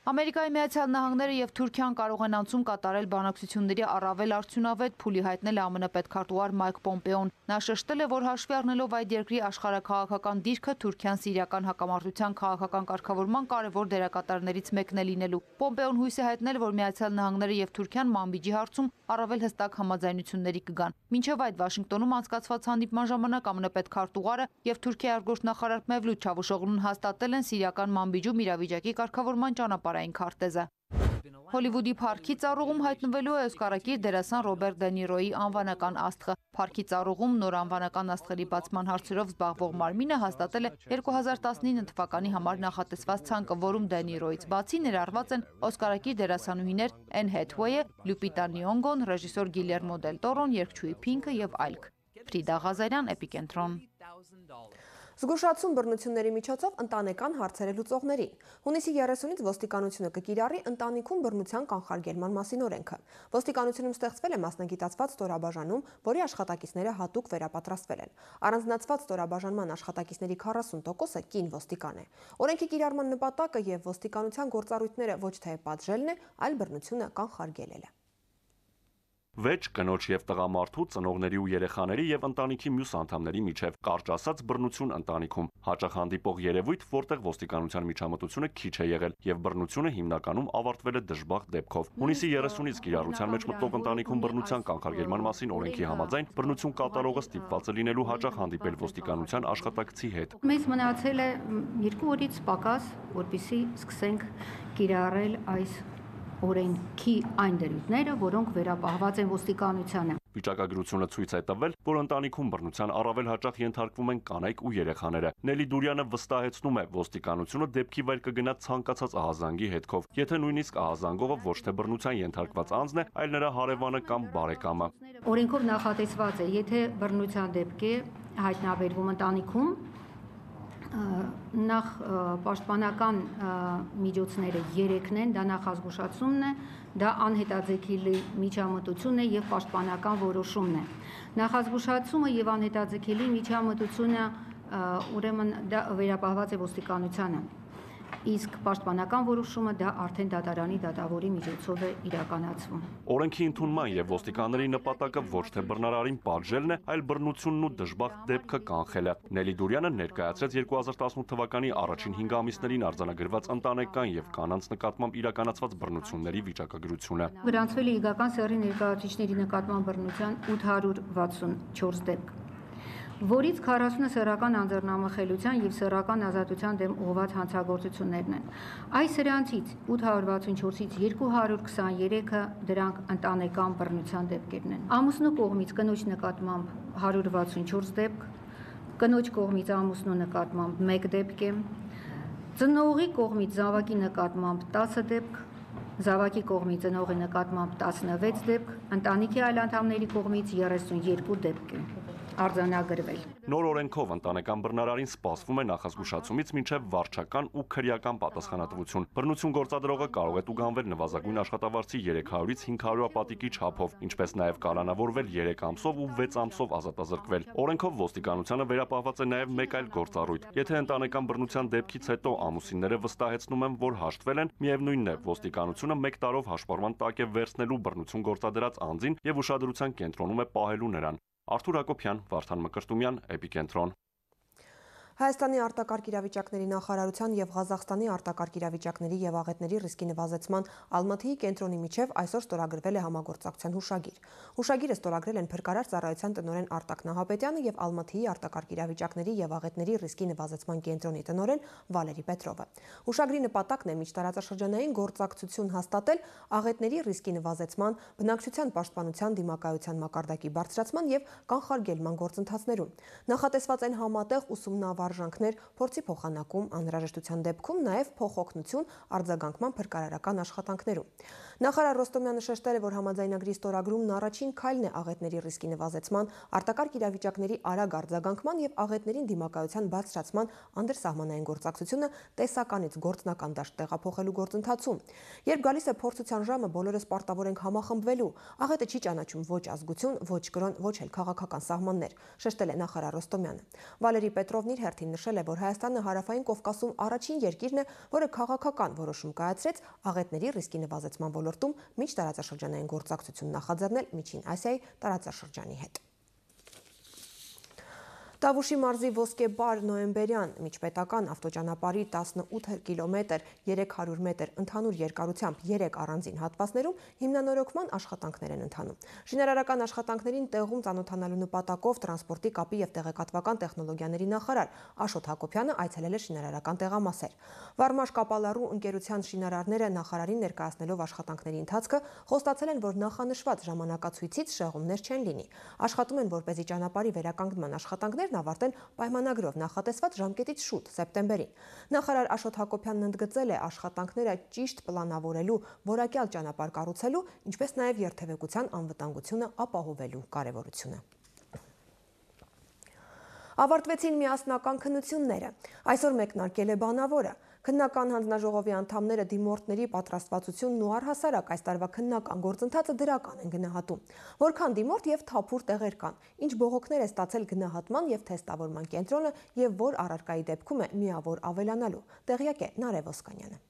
[SPEAKER 11] Ամերիկայի Միացյալ Նահանգները եւ Թուրքիան կարող են անցում կատարել բանակցությունների առավել արդյունավետ, փուլի հայտնել է ԱՄՆ պետքարտուղար Մայք Պոմպեոն։ Նա շեշտել է, որ հաշվի առնելով այդ երկրի աշխարհաքաղաքական դիրքը Թուրքիան-Սիրիական հակամարտության քաղաքական կարգավորման կարևոր դերակատարներից մեկն է լինելու։ Պոմպեոն հույս է հայտնել, որ Միացյալ Նահանգները եւ Թուրքիան Մանբիջի հարցում առավել հստակ համաձայնությունների կգան։ Մինչև այդ Վաշինգտոնում անցկացված հանդիպման ժամանակ ԱՄՆ պետքարտուղարը եւ Թուրքիայի արտգործնախարար Մևլութ Չավուշօղլուն հաստատել են Սիրիական Մանբիջում իրավիճակի կարգավորման ճանապարհային քարտեզը։ Հոլիվուդի Փարքի ծառուղում հայտնվելու է օսկարակիր դերասան Ռոբերտ Դե Նիրոյի անվանական աստղը։ Փարքի ծառուղում նոր անվանական աստղերի բացման հարցերով զբաղվող մարմինը հաստատել է 2019 թվականի համար նախատեսված ցանկը, որում Դե Նիրոյից բացի ներառված են օսկարակիր դերասանուհիներ Էն Հեթուեյը, Լյուպիտա Նյոնգոն, ռեժիսոր Գիլերմո Դել Տորոն, երգչուհի Փինքը եւ այլք։ Ֆրիդա Ղազարյան, Էպիկենտրոն։
[SPEAKER 1] Զգուշացում բռնությունների միջոցով ընտանեկան հարցերը լուծողներին։ Հունիսի 30-ից ոստիկանությունը կկիրառի ընտանիքում բռնության կանխարգելման մասին օրենքը։ Ոստիկանությունում ստեղծվել է մասնագիտացված ստորաբաժանում, որի աշխատակիցները հատուկ վերապատրաստվել են։ Առանձնացված ստորաբաժանման աշխատակիցների 40%-ը կին ոստիկան է։ Օրենքի կիրառման նպատակը եւ ոստիկանության գործառույթները ոչ թե պատժելն է, այլ բռնությունը կանխարգելելը։
[SPEAKER 10] Վեճ կնոջ եւ տղամարդու, ծնողների ու երեխաների եւ ընտանիքի մյուս անդամների միջև կարճ ասած բռնություն ընտանիքում հաճախ հանդիպող երևույթ, որտեղ ոստիկանության միջամտությունը քիչ է եղել եւ բռնությունը հիմնականում ավարտվել է դժբախտ դեպքով։ Հունիսի 30-ից կիրառության մեջ մտնող ընտանիքում բռնության կանխարգելման մասին օրենքի համաձայն բռնություն կատարողը ստիպված է լինելու հաճախ հանդիպել ոստիկանության աշխատակցի հետ։
[SPEAKER 3] Մեզ մնացել է 2 օրից պակաս, որպեսզի սկսենք կիրառել այս օրենքի այն դրույթները, որոնք վերապահված են ոստիկանությանը։
[SPEAKER 10] Վիճակագրությունը ցույց է տվել, որ ընտանիքում բռնության առավել հաճախ ենթարկվում են կանայք ու երեխաները։ Նելի Դուրյանը վստահեցնում է, ոստիկանությունը դեպքի վայր կգնա ցանկացած ահազանգի հետքով, եթե նույնիսկ ահազանգողը ոչ թե բռնության ենթարկված անձն է, այլ նրա հարևանը կամ բարեկամը։
[SPEAKER 3] Օրենքով նախատեսված է, եթե բռնության դեպք է հայտնաբերվում ընտանիքում, նախ պաշտպանական միջոցները 3-ն են, դա նախազգուշացումն է, դա անհետաձգելի միջամտությունն է եւ պաշտպանական որոշումն է։ Նախազգուշացումը եւ անհետաձգելի միջամտությունը ուրեմն դա վերապահված է ոստիկանությանը, իսկ պաշտպանական որոշումը դա արդեն դատարանի դատավորի միջոցով է իրականացվում։
[SPEAKER 10] Օրենքի ընդունման եւ ոստիկանների նպատակը ոչ թե բռնարարին պատժելն է, այլ բռնությունն ու դժբախտ դեպքը կանխելը։ Նելի Դուրյանը ներկայացրեց 2018 թվականի առաջին 5 ամիսներին արձանագրված ընտանեկան եւ կանանց նկատմամբ իրականացված բռնությունների վիճակագրությունը։
[SPEAKER 3] Գրանցվել է իգական սեռի ներկայացուցիչների նկատմամբ բռնության 864 դեպք, որից 40-ը սեռական անձեռնամխելիության եւ սեռական ազատության դեմ ուղղված հանցագործություններն են։ Այս սրանցից 864-ից 223-ը դրանք ընտանեկան բռնության դեպքերն են։ Ամուսնու կողմից կնոջ նկատմամբ 164 դեպք, կնոջ կողմից ամուսնու նկատմամբ 1 դեպք է, ծնողի կողմից զավակի նկատմամբ 10 դեպք, զավակի կողմից ծնողի նկատմամբ 16 դեպք, ընտանիքի այլ անդամների կողմից 32 դեպք է արձանագրվել։
[SPEAKER 10] Նոր օրենքով ընտանեկան բռնարարին սպասվում է նախազգուշացումից մինչև վարչական ու քրեական պատասխանատվություն։ Բռնություն գործադրողը կարող է տուգանվել նվազագույն աշխատավարձի 300-ից 500 պատիկի չափով, ինչպես նաև կալանավորվել 3 ամսով ու 6 ամսով ազատազրկվել։ Օրենքով ոստիկանությանը վերապահված է նաև մեկ այլ գործառույթ։ Եթե ընտանեկան բռնության դեպքից հետո ամուսինները վստահեցնում են, որ հաշտվել են, միևնույնն է, ոստիկանությունը 1 տարով հաշվառման տակ է վերցնելու բռնություն գործադրած անձին եւ ուշադրության կենտրոնում է պահելու նրան։ Արթուր Հակոբյան, Վարդան Մկրտումյան, Էպիկենտրոն։
[SPEAKER 1] Հայաստանի արտակարգ իրավիճակների նախարարության եւ Ղազախստանի արտակարգ իրավիճակների եւ աղետների ռիսկի նվազեցման Ալմաթիի կենտրոնի միջև այսօր ստորագրվել է համագործակցության հուշագիր։ Հուշագիրը ստորագրել են Փրկարար ծառայության տնօրեն Արտակ Նահապետյանը եւ Ալմաթիի արտակարգ իրավիճակների եւ աղետների ռիսկի նվազեցման կենտրոնի տնօրեն Վալերի Պետրովը։ Հուշագրի նպատակն է միջտարածաշրջանային գործակցություն հաստատել աղետների ռիսկի նվազեցման, բնակչության պաշտպանության դիմակայության մակարդակի բարձրացման եւ կանխարգելման գործընթացներում։ Նախատեսված են համատեղ ուսումնավարժանքներ, փորձի փոխանակում, անհրաժեշտության դեպքում նաև փոխօգնություն արձագանքման փրկարարական աշխատանքներում։ Նախարար Ռոստոմյանը շեշտել է, որ համաձայնագրի ստորագրումն առաջին քայլն է աղետների ռիսկի նվազեցման, արտակարգ իրավիճակների արագ արձագանքման եւ աղետներին դիմակայության բարձրացման անդրսահմանային գործակցությունը տեսականից գործնական դաշտ տեղափոխելու գործընթացում։ Երբ գալիս է փորձության ժամը, բոլորս պարտավոր ենք համախմբվելու։ Աղետը չի ճանաչում ոչ ազգություն, ոչ կրոն, ոչ էլ քաղաքական սահմաններ, շեշտել է նախարար Ռոստոմյանը։ Վալերի Պետրովն իր հերթին նշել է, որ Հայաստանը Հարավային Կովկասում առաջին երկիրն է, որը քաղաքական որոշում կայացրեց աղետների ռիսկի նվազեցման ոլորտում միջտարածաշրջանային գործակցություն նախաձեռնել Միջին Ասիայի տարածաշրջանի հետ։ Տավուշի մարզի Ոսկե-Բար Նոյեմբերյան միջպետական ավտոճանապարհի 18 կիլոմետր 300 մետր ընդհանուր երկարությամբ 3 առանձին հատվածներում հիմնանորոգման աշխատանքներ են ընթանում։ Շինարարական աշխատանքներին տեղում ծանոթանալու նպատակով տրանսպորտի կապի եւ տեղեկատվական տեխնոլոգիաների նախարար Աշոտ Հակոբյանը այցելել է շինարարական տեղամասեր։ Վարմաշ Կապալարու ընկերության շինարարները նախարարին ներկայացնելով աշխատանքների ընթացքը խոստացել են, որ նախանշված ժամանակացույցից շեղումներ չեն լինի։ Աշխատում են, որպեսզի ճանապարհի վերականգնման աշխատանքներ ավարտեն պայմանագրով նախատեսված ժամկետից շուտ սեպտեմբերին։ Նախարար Աշոտ Հակոբյանն ընդգծել է աշխատանքները ճիշտ պլանավորելու, որակյալ ճանապարհ կառուցելու, ինչպես նաև երթևեկության անվտանգությունը ապահովելու կարևորությունը։ Ավարտվեցին միասնական քննությունները։ Այսօր մեկնարկել է բանավորը։ Քննական հանձնաժողովի անդամները դիմորդների պատրաստվածությունն ու առհասարակ այս տարվա քննական գործընթացը դրական են գնահատում։ Որքան դիմորդ եւ թափուր տեղեր կան, ինչ բողոքներ է ստացել գնահատման եւ թեստավորման կենտրոնը եւ որ առարկայի դեպքում է միավոր ավելանալու։ Տեղյակ է Նարեկ Ոսկանյանը։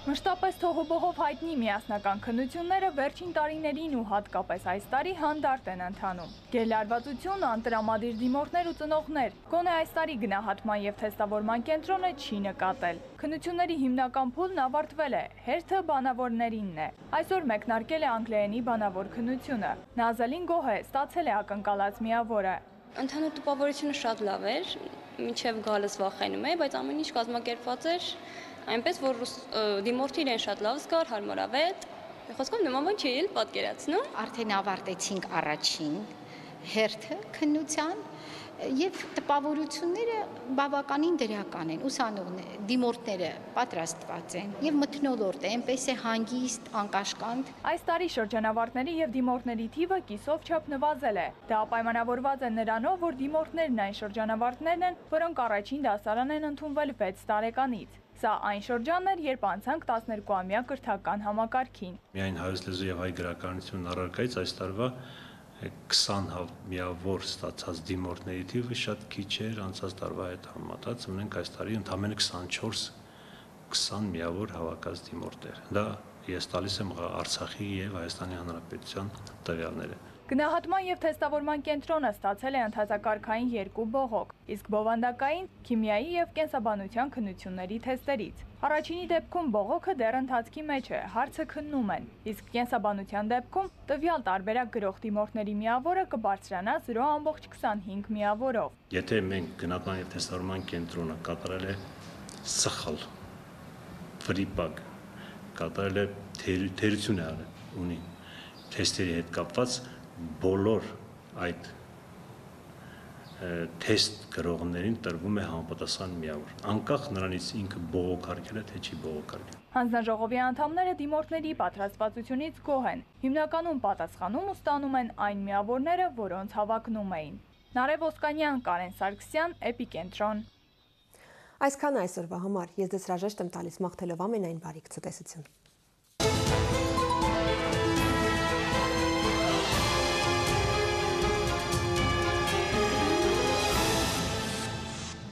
[SPEAKER 12] Մշտապես թողոբողով հայտնի միասնական քննությունները վերջին տարիներին ու հատկապես այս տարի հանդարտ են ընթանում։ Գերլարվածություն, անտրամադիր դիմորդներ ու ծնողներ, գոնե այս տարի գնահատման եւ թեստավորման կենտրոնը չի նկատել։ Քննությունների հիմնական փուլն ավարտվել է, հերթը բանավորներինն է։ Այսօր մեկնարկել է անգլերենի բանավոր քննությունը։ Նազալին գոհ է, ստացել է ակնկալած միավորը։
[SPEAKER 13] Ընդհանուր տպավորությունը շատ լավ էր, մինչև գալս վախենում էի, բայց ամեն ինչ կազմակերպված էր այնպես, որ դիմորդը իրեն շատ լավ զգար, հարմարավետ, խոսքով նման բան չի էլ պատկերացնում։
[SPEAKER 14] Արդեն ավարտեցինք առաջին հերթը քննության եւ տպավորությունները բավականին դրական են, ուսանողները, դիմորդները պատրաստված են եւ մթնոլորտ է, այնպես է հանգիստ, անկաշկանդ։
[SPEAKER 12] Այս տարի շրջանավարտների եւ դիմորդների թիվը կիսով չափ նվազել է։ Դա պայմանավորված է նրանով, որ դիմորդներն այն շրջանավարտներն են, որոնք առաջին դասարան են ընդունվել 6 տարեկանից։ Սա այն շրջանն էր, երբ անցանք 12-ամյա կրթական համակարգին։
[SPEAKER 15] Միայն հայոց լեզու եւ հայ գրականություն առարկայից այս տարվա 20 միավոր ստացած դիմորդների թիվը շատ քիչ էր անցած տարվա հետ համեմատած, ունենք այս տարի ընդամենը 20 միավոր հավաքած դիմորդներ։ Դա ես տալիս եմ Արցախի եւ Հայաստանի Հանրապետության տվյալները։
[SPEAKER 12] Գնահատման եւ թեստավորման կենտրոնը ստացել է ընթացակարգային 2 բողոք, իսկ բովանդակային քիմիայի եւ կենսաբանության քննությունների թեստերից։ Առաջինի դեպքում բողոքը դեռ ընթացքի մեջ է, հարցը քննում են, իսկ կենսաբանության դեպքում տվյալ տարբերակ գրող դիմորդների միավորը կբարձրանա 0.25 միավորով։
[SPEAKER 15] Եթե մենք գնահատման եւ թեստավորման կենտրոնը կատարել է սխալ, վրիպակ, կատարել է թերություն է ունի թեստերի հետ կապված բոլոր այդ թեստ գրողներին տրվում է համապատասխան միավոր, անկախ նրանից ինքը բողոքարկել է, թե չի բողոքարկել։
[SPEAKER 12] Հանձնաժողովի անդամները դիմորդների պատրաստվածությունից գոհ են, հիմնականում պատասխանում ու ստանում են այն միավորները, որոնց հավակնում էին։ Նարեկ Ոսկանյան, Կարեն Սարգսյան, Էպիկենտրոն։
[SPEAKER 1] Այսքան այսօրվա համար, ես դες հրաժեշտ եմ տալիս մաղթելով ամենայն բարիք ցտեսություն։